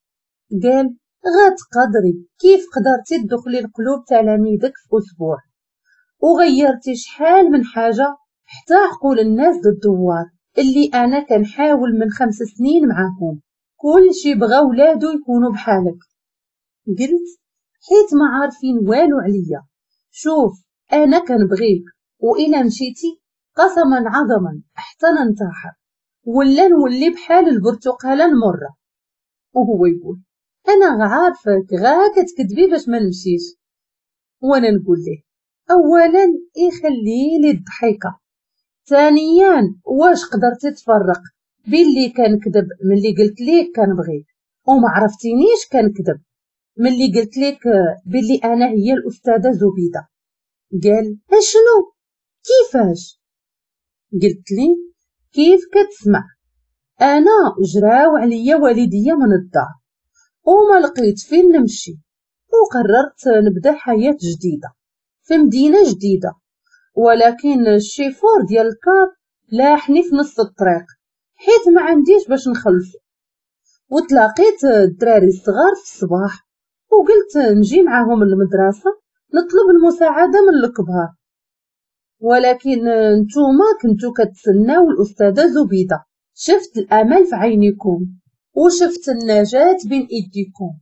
قال غتقدري، كيف قدرتي تدخلي القلوب تلاميذك في اسبوع وغيرتي شحال من حاجة حتى عقول الناس ضد الدوار اللي انا كنحاول من 5 سنين معاهم، كل شي بغا ولادو يكونوا بحالك. قلت حيت ما عارفين والو عليا، شوف انا كنبغيك والا مشيتي قسما عظما حتى ننتحر ولا نولي بحال البرتقاله المرة. وهو يقول انا عارفك غا كتكذبي باش ما نمشيش. وانا نقول ليه اولا يخلي لي الضحكة، ثانيا واش قدرتي تفرق باللي كنكذب ملي قلت ليك كنبغيك وما عرفتينيش كنكذب. ملي قلت لك بلي انا هي الاستاذة زبيده. قال اشنو؟ كيفاش؟ قلت لي كيف كتسمع، انا جراو عليا والديا من الدار وما لقيت فين نمشي، وقررت نبدا حياة جديدة في مدينة جديدة، ولكن الشيفور ديال الكار لاحني في نص الطريق حيت ما عنديش باش نخلصو، وتلاقيت الدراري الصغار في الصباح وقلت نجي معاهم للمدرسة نطلب المساعدة من الكبار، ولكن نتوما كنتو كتسناو الاستاذة زبيده. شفت الامل في عينيكم وشفت النجاة بين ايديكم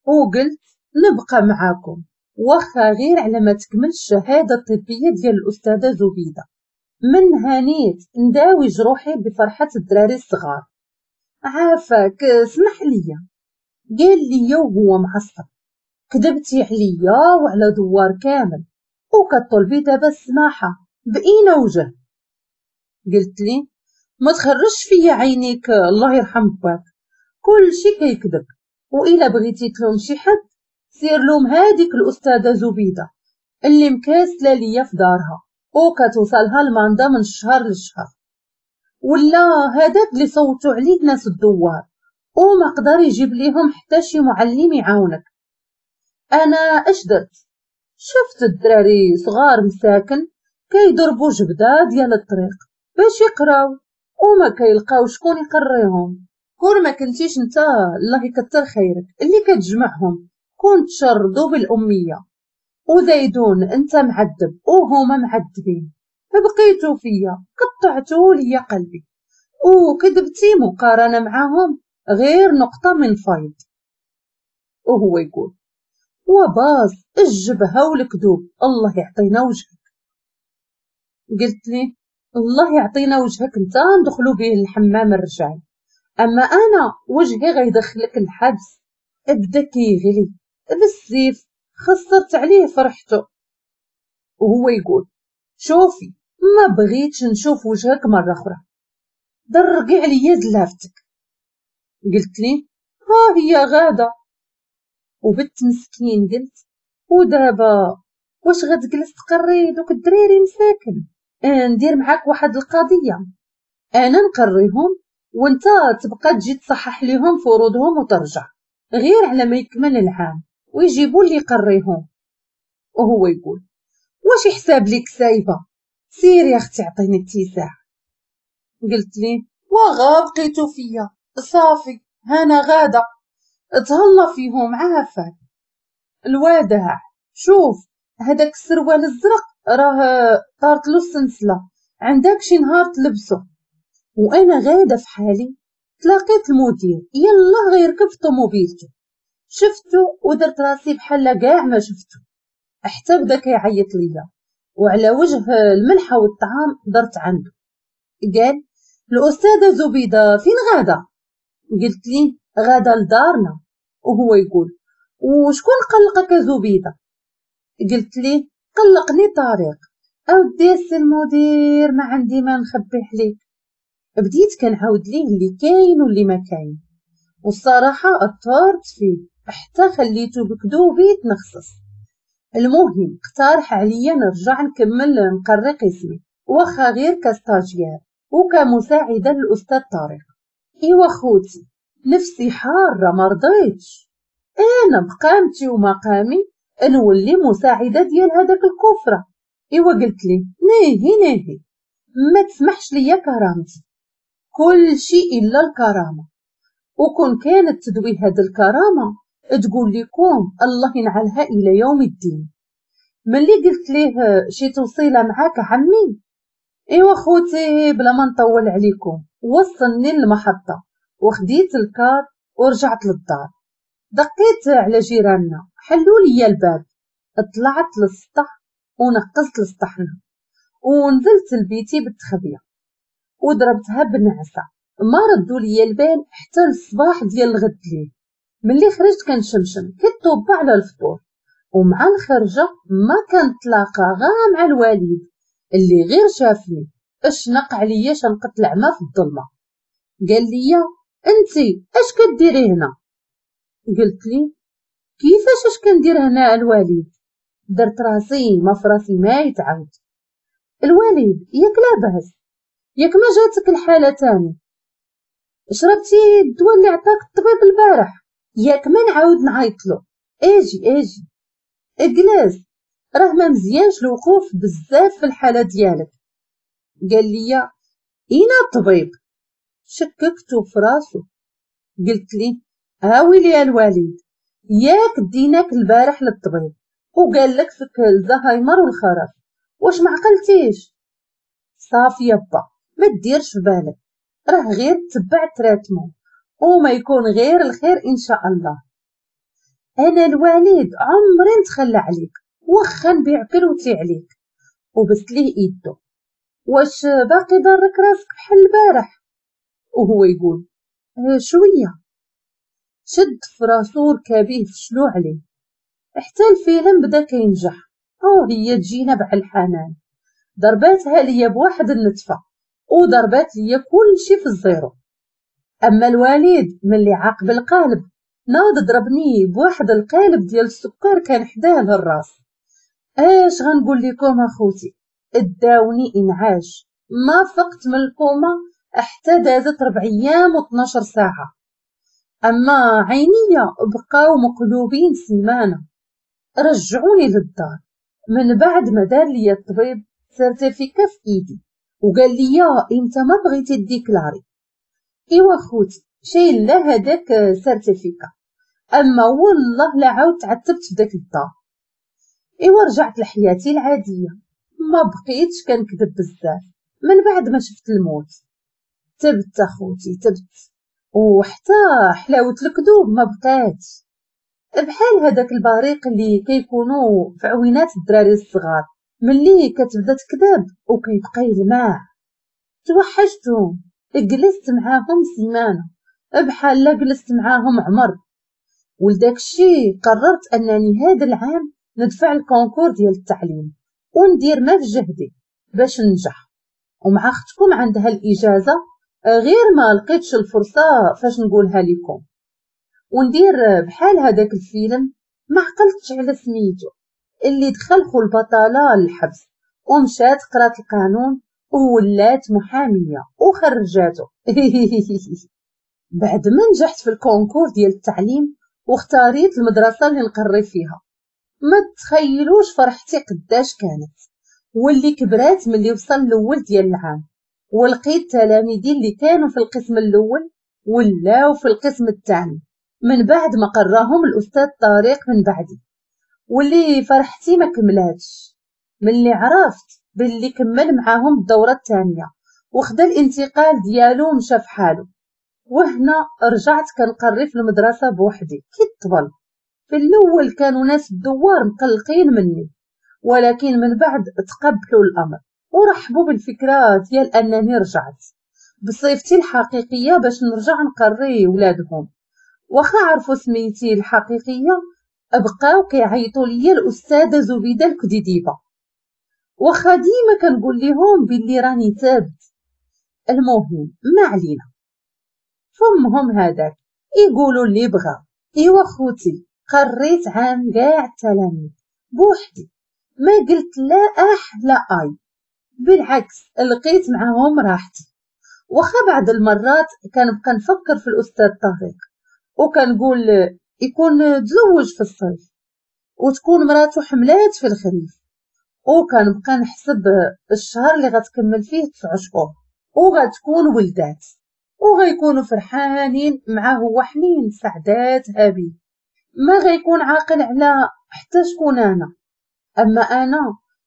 وقلت نبقى معاكم واخا غير على ما تكمل الشهادة الطبية ديال الاستاذة زبيده. من هانيت نداوي جروحي بفرحة الدراري الصغار. عافاك اسمح ليا. قال لي وهو معصب كذبتي عليا وعلى دوار كامل وكطلبي دابا السماحة بأين وجه؟ قلت لي ما تخرجش فيا عينيك الله يرحم باك، كل شي كيكذب، وإلا بغيتي تلوم شي حد سير لوم هاديك الاستاذة زبيده اللي مكاسله ليا في دارها وكتوصلها الماندا من الشهر للشهر، ولا هذاك اللي صوتوا عليه ناس الدوار وما قدر يجيب ليهم حتى شي معلم يعاونك. انا اش درت؟ شفت الدراري صغار مساكن كيضربوا جبده ديال الطريق باش يقراو وما كيلقاو شكون يقريهم. كون ما كنتيش انت الله يكثر خيرك اللي كتجمعهم كون تشردوا بالاميه، وزيدون انت معذب وهما معذبين، بقيتو فيا قطعتو ليا قلبي وكذبتي مقارنة معاهم غير نقطة من فيض. وهو يقول وباز الجبهة والكذوب الله يعطينا وجهك. قلت لي الله يعطينا وجهك انت ندخلو به الحمام الرجال، اما انا وجهي غيدخلك الحبس. بدا كيغلي بالسيف، خسرت عليه فرحته. وهو يقول شوفي ما بغيتش نشوف وجهك مرة أخرى، درقي عليا زلافتك. قلت لي ها هي غادة. وبت مسكين قلت ودابا واش غتجلس تقري دوك الدراري مساكن؟ ندير معاك واحد القضية، انا نقريهم وانت تبقى تجي تصحح ليهم فروضهم وترجع غير على ما يكمل العام ويجيبوا اللي يقريهم. وهو يقول واش يحساب ليك سايبه؟ سير يا اختي عطيني اتساع. قلت لي وغا بقيتو فيا صافي هانا غاده، تهلا فيهم عافاك. الوادع شوف هداك السروال الزرق راه طارت له السلسلة، عندك شي نهار تلبسو. وانا غاده في حالي تلاقيت المدير يلا غيركب في طوموبيلته، شفتو ودرت راسي بحال كاع ما شفتو، حتى بدا كيعيط ليا وعلى وجه الملحة والطعام درت عنده. قال الاستاذة زبيده فين غاده؟ قلت لي غاده لدارنا. وهو يقول وشكون قلقك زبيده؟ قلت لي قلقني طارق. اودي السي المدير ما عندي ما نخبي عليك. بديت كنعاود ليه اللي كاين واللي ما كاين، والصراحة اثرت فيه حتى خليته بكذوبي يتنخصص. المهم اقترح عليا نرجع نكمل نقري قسمي واخا غير ك stagiaire وكمساعده للاستاذ طارق. ايوا خوتي نفسي حارة ما رضيتش، انا بقامتي ومقامي نولي مساعدة ديال هذاك الكفرة. ايوا قلت لي ناهي ناهي ما تسمحش ليا كرامتي، كل شيء الا الكرامة. وكون كانت تدوي هاد الكرامة تقول لكم الله ينعلها الى يوم الدين. ملي قلت ليه شي توصيله معاك عمي؟ ايوا خوتي بلا ما نطول عليكم وصلني للمحطه وخديت الكار ورجعت للدار. دقيت على جيراننا حلوا لي الباب، طلعت للسطح ونقزت لسطحنا ونزلت لبيتي بالتخبيه وضربتها بنعسه. ما ردوا لي البال حتى الصباح ديال الغد ليه. ملي خرجت كنشمشم كطوبه على الفطور، ومع الخرجه ما كنتلاقى غا مع الوالد اللي غير شافني اشنق عليا شنقة العمى في الظلمة. قال لي انتي اش كديري هنا؟ قلت لي كيفاش اش كندير هنا الوالد؟ درت راسي ما فراسي ما يتعاود. الوالد ياك لاباس؟ ياك ما جاتك الحالة تاني؟ شربتي الدواء اللي عطاك الطبيب البارح؟ ياك ما نعاود نعيطلو؟ اجي اجي اجلس، راه ما مزيانش الوقوف بزاف في الحالة ديالك. قال لي اينا الطبيب؟ شككتو في راسو. قلت لي هاويلي الوالد، ياك ديناك البارح للطبيب وقال لك فيك الزهايمر والخرف، واش ما عقلتيش؟ صافي يابا ما ديرش في بالك، راه غير تبع traitement وما يكون غير الخير ان شاء الله. انا الوالد عمري نتخلى عليك، واخا نبيع كروتي عليك. وبست ليه ايدو. واش باقي ضرك راسك بحال البارح؟ وهو يقول شوية. شد في راسو ركابيه فشلو عليه حتى الفيلم بدا كينجح. وهي تجينا بع الحنان، ضرباتها ليا بواحد النتفه وضربات ليا كلشي في ال zéro. اما الوالد ملي عاق بالقالب ناض ضربني بواحد القالب ديال السكر كان حداه للراس. اش غنقول لكم اخوتي، اداوني انعاش، ما فقت من الكوما حتى دازت 4 ايام و12 ساعة. اما عينيا بقاو مقلوبين سيمانه. رجعوني للدار من بعد ما دار لي الطبيب certificat في ايدي وقال لي امتى ما بغيتي déclarer. ايوا خوتي شي لا هذاك certificat، اما والله لا عاود تعتبت في داك الدار. ايوا رجعت لحياتي العادية، ما بقيتش كنكذب بزاف من بعد ما شفت الموت. تبت اخوتي تبت، وحتى حلاوة الكذوب ما بقاتش. بحال هذاك البريق اللي كيكونوا في عوينات الدراري الصغار ملي كتبدا تكذب وكيبقى يلمع. توحشتهم، جلست معاهم سيمانه بحال لا جلست معاهم عمر. ولداك الشي قررت انني هذا العام ندفع ال concours ديال التعليم وندير ما في جهدي باش ننجح. ومع اختكم عندها الاجازة، غير ما لقيتش الفرصة فاش نقولها لكم. وندير بحال هذاك الفيلم ما عقلتش على سميتو، اللي دخل خو البطالة للحبس ومشات قرات القانون وولات محاميه وخرجاتو. بعد ما نجحت في ال concours ديال التعليم واختاريت المدرسة اللي نقري فيها، ما تخيلوش فرحتي قداش كانت، واللي كبرات ملي وصل الاول ديال العام ولقيت تلاميذي اللي كانوا في القسم الاول ولاو في القسم الثاني من بعد ما قراهم الاستاذ طارق من بعدي. واللي فرحتي ما كملاتش ملي عرفت باللي كمل معاهم الدورة الثانية وخدا الانتقال ديالو ومشى في حاله. وهنا رجعت كنقري في المدرسة بوحدي كي الطبل. في الاول كانوا ناس الدوار مقلقين مني، ولكن من بعد تقبلوا الامر ورحبوا بالفكرة ديال انني رجعت بصفتي الحقيقية باش نرجع نقري ولادهم. واخا عرفوا سميتي الحقيقية بقاو كيعيطوا ليا الاستاذة زبيده الكديديبه، واخا ديما كنقول لهم باللي راني تابت. المهم ما علينا، فمهم هذاك يقولوا اللي بغا. ايوا خوتي قريت عام كاع التلاميذ بوحدي، ما قلت لا اح لا اي، بالعكس لقيت معاهم راحتي. واخا بعض المرات كنبقى نفكر في الاستاذ طارق وكنقول يكون تزوج في الصيف وتكون مراته حملات في الخريف، وكنبقى نحسب الشهر اللي غتكمل فيه 9 شهور وغتكون ولدات وغيكونوا فرحانين معاه هو حنين سعدات هابي، ما غيكون عاقل على حتى شكون انا. اما انا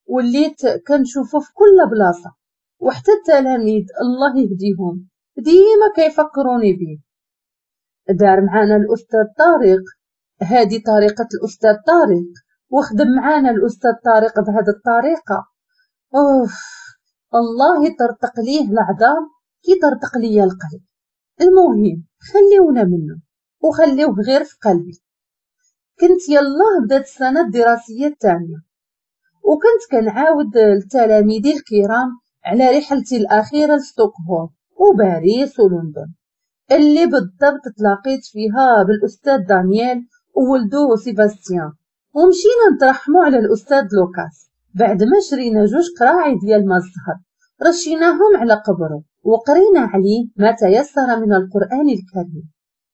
وليت كنشوفه في كل بلاصة، وحتى التلاميذ الله يهديهم ديما كيفكروني به. دار معانا الاستاذ طارق، هذه طريقه الاستاذ طارق، وخدم معانا الاستاذ طارق بهذه الطريقة. اوف الله يطرطق ليه العظام كي طرطق ليا القلب. المهم خليونا منه وخليوه غير في قلبي. كنت يلاه بدات السنة الدراسية الثانية، وكنت كنعاود لتلاميذي الكرام على رحلتي الاخيرة لستوكهولم وباريس ولندن، اللي بالضبط تلاقيت فيها بالاستاذ دانيال وولدو سيباستيان، ومشينا نترحموا على الأستاذ لوكاس بعد ما شرينا 2 قراعي ديال ما الزهر، رشيناهم على قبره وقرينا عليه ما تيسر من القرآن الكريم.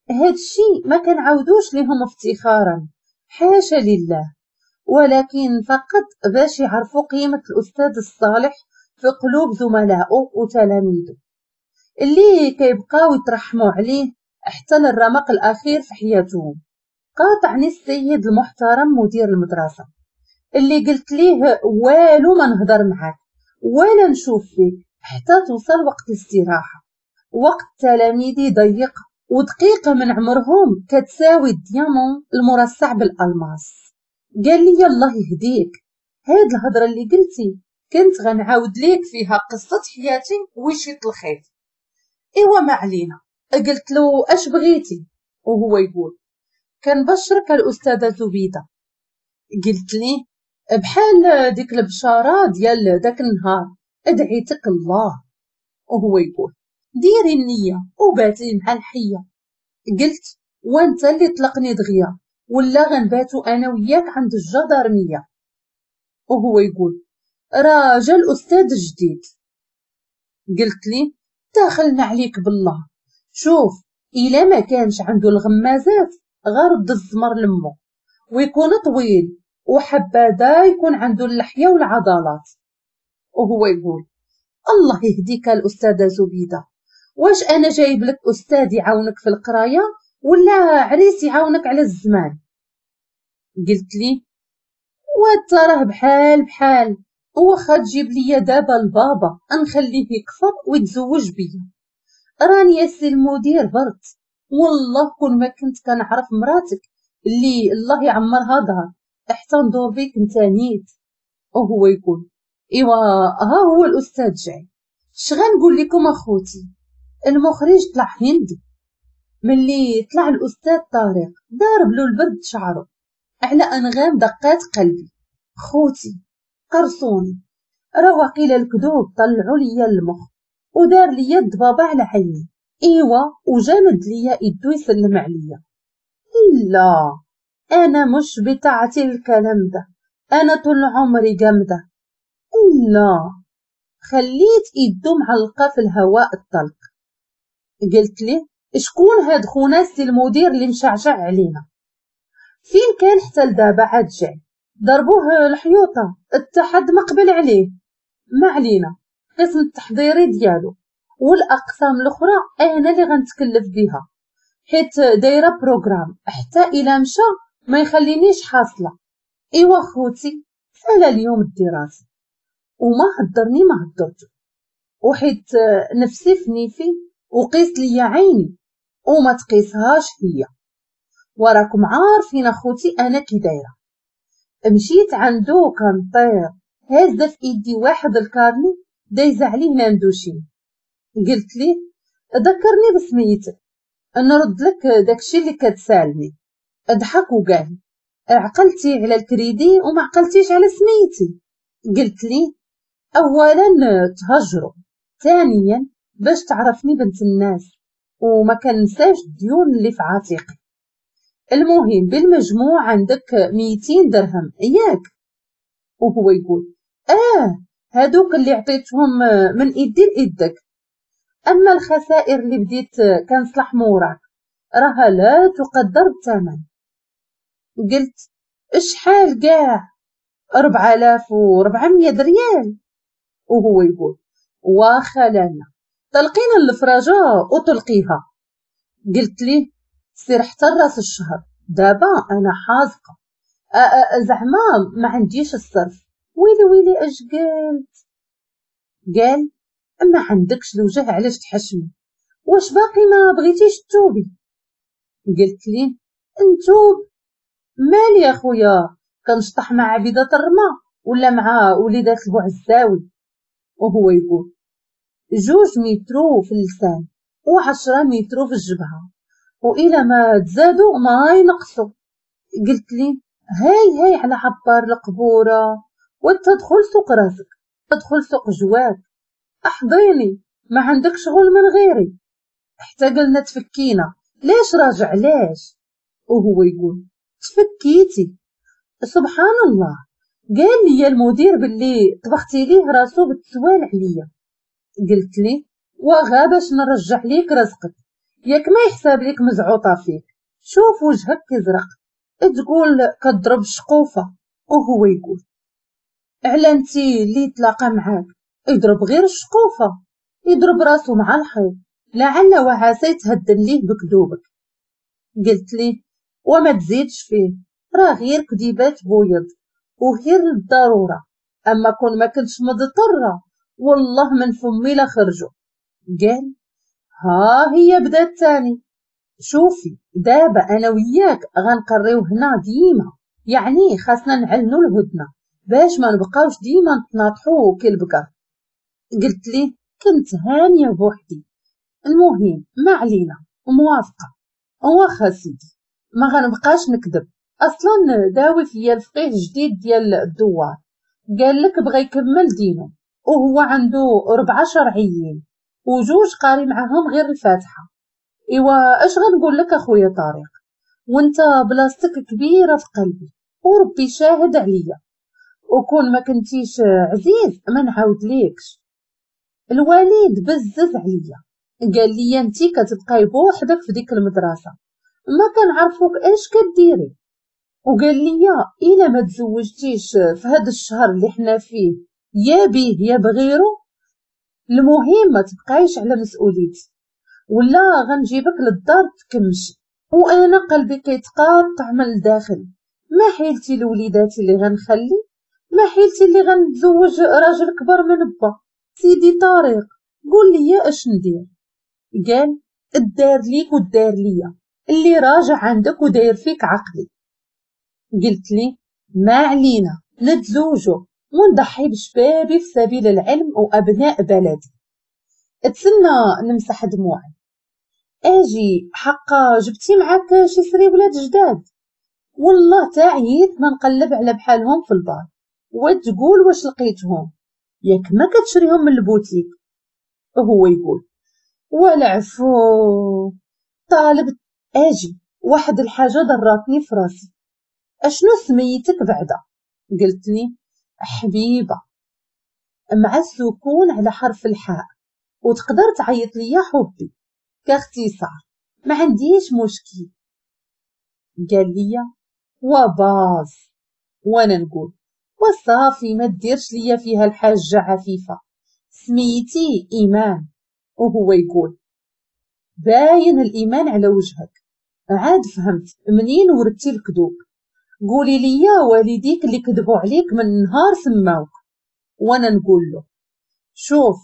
هادشي ما كنعاودوش لهم افتخارا، حاشا لله، ولكن فقط باش يعرفوا قيمة الأستاذ الصالح في قلوب زملائه وتلاميذه اللي كيبقاو يترحموا عليه حتى للرمق الأخير في حياتهم. قاطعني السيد المحترم مدير المدرسة اللي قلت ليه والو ما نهضر معاك ولا نشوف فيك حتى توصل وقت الاستراحة. وقت تلاميذي ضيق ودقيقة من عمرهم كتساوي ال diamant المرصع بالألماس. قال لي الله يهديك، هاد الهضرة اللي قلتي كنت غنعاود ليك فيها قصة حياتي وشيط الخيط. ايوا ما علينا. قلت له اش بغيتي؟ وهو يقول كنبشرك الأستاذة زبيدة. قلت لي بحال ديك البشارة ديال داك النهار ادعيتك الله. وهو يقول ديري النية وباتي مع الحية. قلت وانت اللي طلقني دغيا ولا غنباتو انا وياك عند الجدارمية. وهو يقول راه جا الأستاذ الجديد. قلت لي داخلنا عليك بالله، شوف إلا ما كانش عنده الغمازات غرد الزمر لمو، ويكون طويل وحبذا يكون عنده اللحية والعضلات. وهو يقول الله يهديك الأستاذة زبيدة، واش أنا جايب لك أستاذ يعاونك في القراية ولا عريس يعاونك على الزمان؟ قلت لي وتراه بحال بحال، واخا تجيب لي دابا البابا نخليه يكفر ويتزوج بيا. راني يا سي المدير برد، والله كون ما كنت كنعرف مراتك اللي الله يعمرها دار حتى ندور بيك انت نيت. وهو يقول ايوا ها هو الاستاذ جاي. اش غنقول لكم اخوتي، المخرج طلع هندي. ملي طلع الاستاذ طارق ضارب له البرد شعره على انغام دقات قلبي. خوتي قرصوني، راه وقيل الكذوب طلعوا ليا المخ ودار ليا الضبابه على عيني. ايوا وجامد ليا ايدو يسلم عليا. لا انا مش بتاعتي الكلام ده، انا طول عمري جامده. لا خليت ايدو معلقه في الهواء الطلق. قلت ليه شكون هاد خونا سي المدير اللي مشعشع علينا؟ فين كان حتى لدابا عاد جاي؟ ضربوه الحيوطه التحد ما قبل عليه. ما علينا، قسم التحضيري ديالو والاقسام الاخرى انا اللي غنتكلف بها، حيت دايره programme حتى الى مشى ما يخلينيش حاصله. ايوا خوتي سالا اليوم الدراسي وما هدرني ما هدرتو، وحيت نفسي في نيفي وقيس ليا عيني وما تقيسهاش هي. وراكم عارفين اخوتي انا كي دايره. مشيت عندو كنطير هازه في ايدي واحد ال carnet دايزه عليه مامدوشين. قلت ليه ذكرني بسميتك نرد لك داكشي اللي كتسالني. ضحك وقال عقلتي على الكريدي وما عقلتيش على سميتي. قلت ليه اولا تهجروا، ثانيا باش تعرفني بنت الناس وما كنساش الديون اللي في عاتقي. المهم بالمجموع عندك 200 درهم ياك؟ وهو يقول هادوك اللي عطيتهم من ايدي لايدك، اما الخسائر اللي بديت كنصلح موراك راها لا تقدر بالثمن. قلت شحال كاع؟ 4400 ريال. وهو يقول واخا لانا طلقينا الفراجه وطلقيها. قلت ليه سير حتى راس الشهر، دابا انا حازقه زعما ما عنديش الصرف. ويلي ويلي اش قلت؟ قال ما عندكش الوجه علاش تحشمي، واش باقي ما بغيتيش تتوبي؟ قلت ليه نتوب مالي يا خويا، كنشطح مع عبيدة الرما ولا مع وليدات البوعزاوي؟ وهو يقول 2 مترو في اللسان و10 مترو في الجبهة، وإلى ما تزادوا ما ينقصوا. قلت لي هاي هاي على عبار القبورة، وتدخل سوق راسك تدخل سوق جواك، احضيني ما عندك شغل من غيري. حتى قلنا تفكينا، ليش راجع علاش؟ وهو يقول تفكيتي. سبحان الله، قال لي المدير باللي طبختي ليه راسو بالتسوال عليا. قلت لي وغا باش نرجع ليك رزقك، ياك ما يحساب ليك مزعوطه فيك، شوف وجهك كيزرق تقول كضرب شقوفه. وهو يقول على انتي اللي تلاقى معاك يضرب غير الشقوفه، يضرب راسو مع الحيط، لعل وعسى يتهدن ليه بكذوبك. قلت ليه وما تزيدش فيه، راه غير كذيبات بويض وغير للضرورة، اما كون ما كنتش مضطرة والله من فمي لا خرجوا. قال ها هي بدات تاني، شوفي دابا انا وياك غنقريو هنا ديما، يعني خاصنا نعلنو الهدنة باش ما نبقاوش ديما نتناطحو كي البقر. قلت ليه كنت هانيه بوحدي، المهم ما علينا موافقة، واخا سيدي ما غنبقاش نكذب، اصلا داوي فيا الفقيه الجديد ديال الدوار، قال لك بغى يكمل دينه وهو عنده 4 شرعيين وجوج قاري معاهم غير الفاتحة. ايوا اش غنقول لك اخويا طارق، وانت بلاصتك كبيرة في قلبي وربي شاهد عليا، وكون ما كنتيش عزيز ما نعاود ليكش. الوالد بزز عليا، قال لي انتي كتبقاي بوحدك في ديك المدرسة، ما كنعرفوك اش كديري، وقال لي الا ما تزوجتيش في هذا الشهر اللي حنا فيه يا بيه يا بغيرو، المهم ما تبقايش على مسؤوليتي ولا غنجيبك للدار تكمشي. وانا قلبي كيتقاطع من الداخل، ما حيلتي لوليداتي اللي غنخلي، ما حيلتي اللي غنتزوج راجل كبر من با. سيدي طارق قول لي اش ندير. قال الدار ليك والدار ليا، اللي راجع عندك وداير فيك عقلي. قلت لي ما علينا نتزوجو ونضحي بشبابي في سبيل العلم وابناء بلدي. اتسنى نمسح دموعي. اجي حقا جبتي معاك شي سريولات جداد؟ والله تعييت ما نقلب على بحالهم في البار وتقول واش لقيتهم، ياك ما كتشريهم من البوتيك. وهو يقول ولا عفو طالب. اجي واحد الحاجة ضراتني في راسي، اشنو سميتك بعدا؟ قلت لي حبيبه مع السكون على حرف الحاء، وتقدر تعيط ليا حبي كاختصار، ما عنديش مشكل. قال لي وباز، وانا نقول وصافي ما ديرش ليا فيها الحاجة عفيفة، سميتي ايمان. وهو يقول باين الايمان على وجهك، عاد فهمت منين ورثتي الكذوب، قولي لي والديك اللي كذبوا عليك من نهار سماوك. وانا نقول له شوف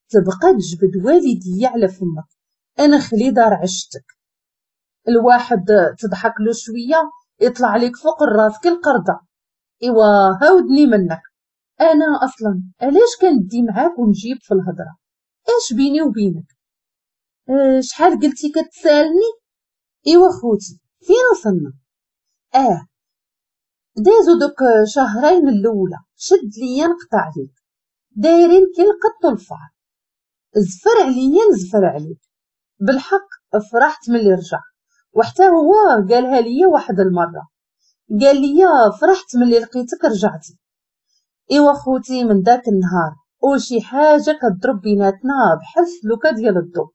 تبقى تجبد والدي على فمك، انا خلي دار عشتك. الواحد تضحك له شوية يطلع لك فوق الراس كالقرده. ايوا هاودني منك، انا اصلا علاش كندي معاك ونجيب في الهضرة؟ اش بيني وبينك؟ شحال قلتي كتسالني؟ ايوا خوتي فين وصلنا؟ دازو دوك شهرين الاولى شد ليا نقطع عليك، دايرين كي القط والفار، زفر عليا نزفر عليك. بالحق فرحت ملي رجع، وحتى هو قالها ليا واحد المرة، قال لي فرحت ملي لقيتك رجعتي. ايوا خوتي من داك النهار وشي حاجة كضرب بيناتنا بحال السلوكه ديال الضو،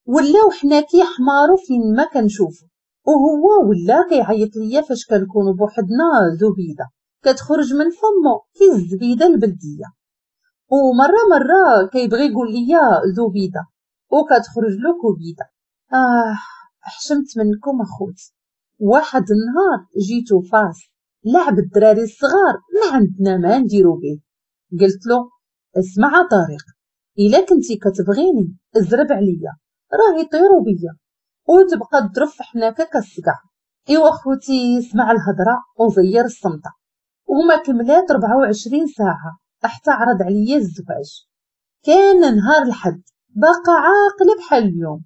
ولاو حنا كيحمارو فين ما كنشوفو، وهو ولا كيعيط ليا فاش كنكونو بوحدنا زبيده كتخرج من فمو كي الزبيده البلدية، ومرة مرة كيبغي يقول ليا زبيده وكتخرج له كبيده. حشمت منكم اخوتي. واحد النهار جيتو فاس لعب الدراري الصغار ما عندنا ما نديرو به. قلت له اسمع طارق، الا كنتي كتبغيني ازرب عليا راه يطيروا بيا وتبقى تضرب في حناكه كالصقع. ايوا خوتي اسمع الهضرة وزير الصمته، وما كملات 24 ساعة حتى عرض عليا الزواج. كان نهار الحد باقا عاقلة بحال اليوم،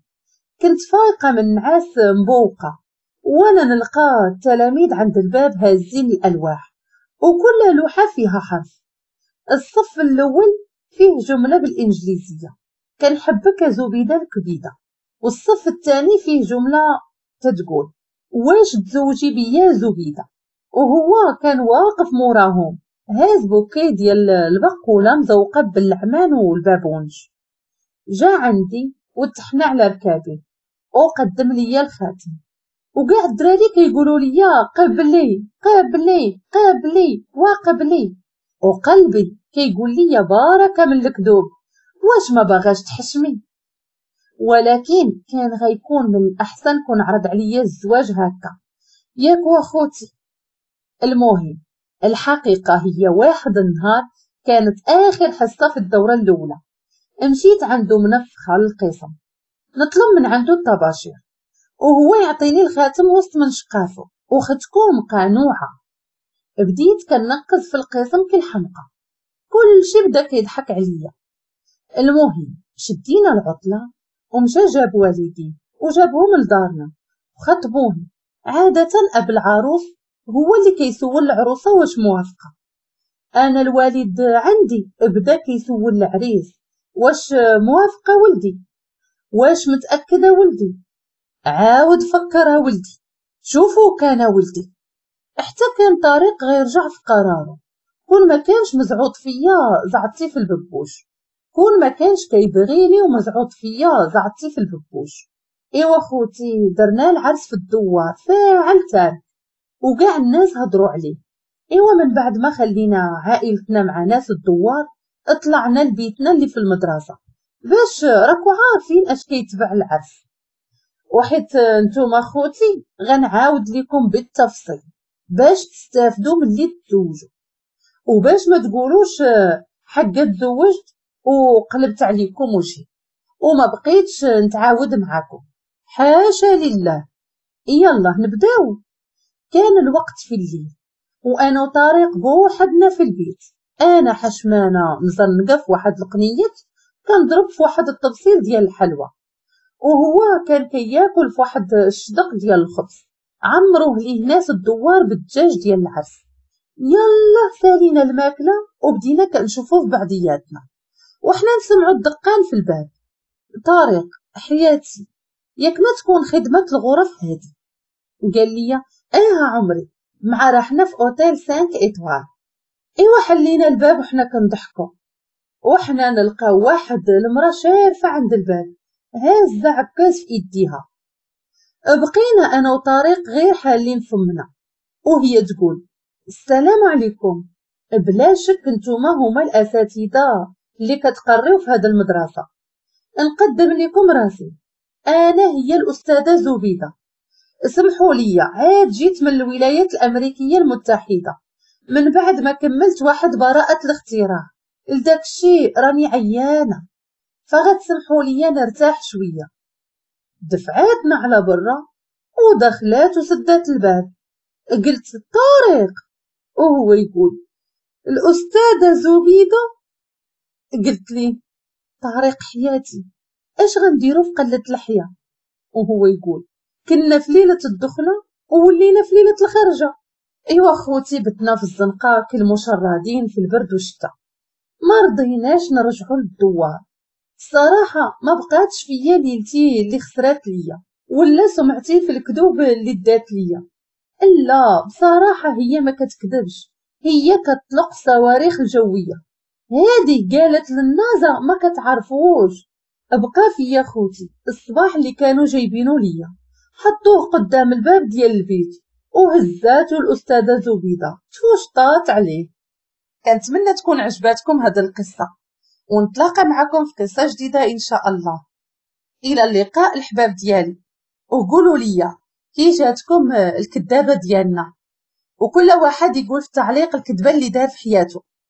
كنت فايقه من نعاس مبوقه، وانا نلقى التلاميذ عند الباب هازين الالواح وكل لوحة فيها حرف. الصف الاول فيه جملة بالانجليزية كنحبك زبيده الكبيده، والصف الثاني فيه جملة تتقول واش تزوجي بيا زبيده؟ وهو كان واقف موراهم هاز بوكي ديال البقوله مزوقه بالعمان والبابونج. جا عندي وتحنى على ركابي وقدم ليا الخاتم، وكاع الدراري كيقولوا لي قبلي قبلي قبلي وقبلي، وقلبي كيقول لي باركه من الكذوب، واش ما باغاش تحشمي؟ ولكن كان غيكون من الاحسن كون عرض عليا الزواج هكا، ياك واخوتي. المهم الحقيقة هي واحد النهار كانت اخر حصة في الدورة الاولى، مشيت عنده منفخه للقسم نطلب من عنده الطباشير، وهو يعطيني الخاتم وسط من شقافه، وختكم قانوعه. بديت كنقز في القسم كالحمقى، كلشي بدا كيضحك عليا. المهم شدينا العطلة ومشى جاب والدي وجابهم لدارنا وخطبوني. عادة اب العروس هو اللي كيسول العروسة واش موافقة. انا الوالد عندي بدا كيسول العريس واش موافقة ولدي، واش متاكدة ولدي، عاود فكرها ولدي، شوفوا كان ولدي. حتى كان طارق غيرجع في قراره، كون ما كانش مزعوط فيا زعطتي في الببوش، كون ما كانش كيبغيني ومزعوط فيا زعطتي في الببوش. ايوا خوتي درنا العرس في الدوار فاعل تارك، وكاع الناس هضروا عليه. ايوا من بعد ما خلينا عائلتنا مع ناس الدوار طلعنا لبيتنا اللي في المدرسة، باش راكو عارفين اش كيتبع العرس. وحيت نتوما خوتي غنعاود لكم بالتفصيل باش تستافدوا ملي تزوجوا، وباش ما تقولوش حقا تزوجت وقلبت عليكم وجهي وما بقيتش نتعاود معاكم، حاشا لله. يلا نبداو. كان الوقت في الليل وانا وطارق بوحدنا في البيت، انا حشمانه مزنقه في واحد القنيت كنضرب في واحد الطبسيل ديال الحلوى، وهو كان كياكل في واحد الشدق ديال الخبز عمروه ليه ناس الدوار بالدجاج ديال العرس. يلا سالينا الماكلة وبدينا كنشوفو في بعضياتنا، وحنا نسمعوا الدقان في الباب. طارق حياتي ياك ما تكون خدمة الغرف هادي؟ قال لي اه عمري، مع راحنا في اوتيل 5 étoiles. ايوا حلينا الباب وحنا كنضحكوا، وحنا نلقاو واحد المراة شارفه عند الباب هازه عكاز في ايديها. بقينا انا وطارق غير حالين فمنا، وهي تقول السلام عليكم، بلا شك نتوما هما الاساتذة اللي كتقريو في هذا المدرسة، نقدم لكم راسي، انا هي الاستاذة زبيده، سمحوا لي عاد جيت من الولايات الامريكية المتحدة من بعد ما كملت واحد براءه الاختراع، لداك الشيء راني عيانه، فغتسمحوا لي نرتاح شوية. دفعاتنا على برا ودخلات وسدات الباب. قلت طارق، وهو يقول الاستاذة زبيده. قلت لي طارق حياتي اش غنديرو في قلة الحياة؟ وهو يقول كنا في ليلة الدخلة وولينا في ليلة الخرجه. ايوا خوتي بتنا في الزنقة كالمشردين في البرد والشتاء، ما رضيناش نرجعوا للدوار. الصراحة ما بقاتش فيا ليلتي اللي خسرات ليا ولا سمعتي في الكذوب اللي دات ليا. لا بصراحة هي ما كتكذبش، هي كتطلق صواريخ الجوية. هذه قالت للنازا ما كتعرفوش. بقى فيا خوتي الصباح اللي كانوا جايبينو ليا، حطوه قدام الباب ديال البيت وهزاتو الاستاذة زبيده توشطات عليه. كنتمنى تكون عجباتكم هذه القصة، ونتلاقى معكم في قصة جديدة ان شاء الله. الى اللقاء الحباب ديالي، وقولوا لي كي جاتكم الكذابه ديالنا، وكل واحد يقول في التعليق الكذبة اللي دار في حياته.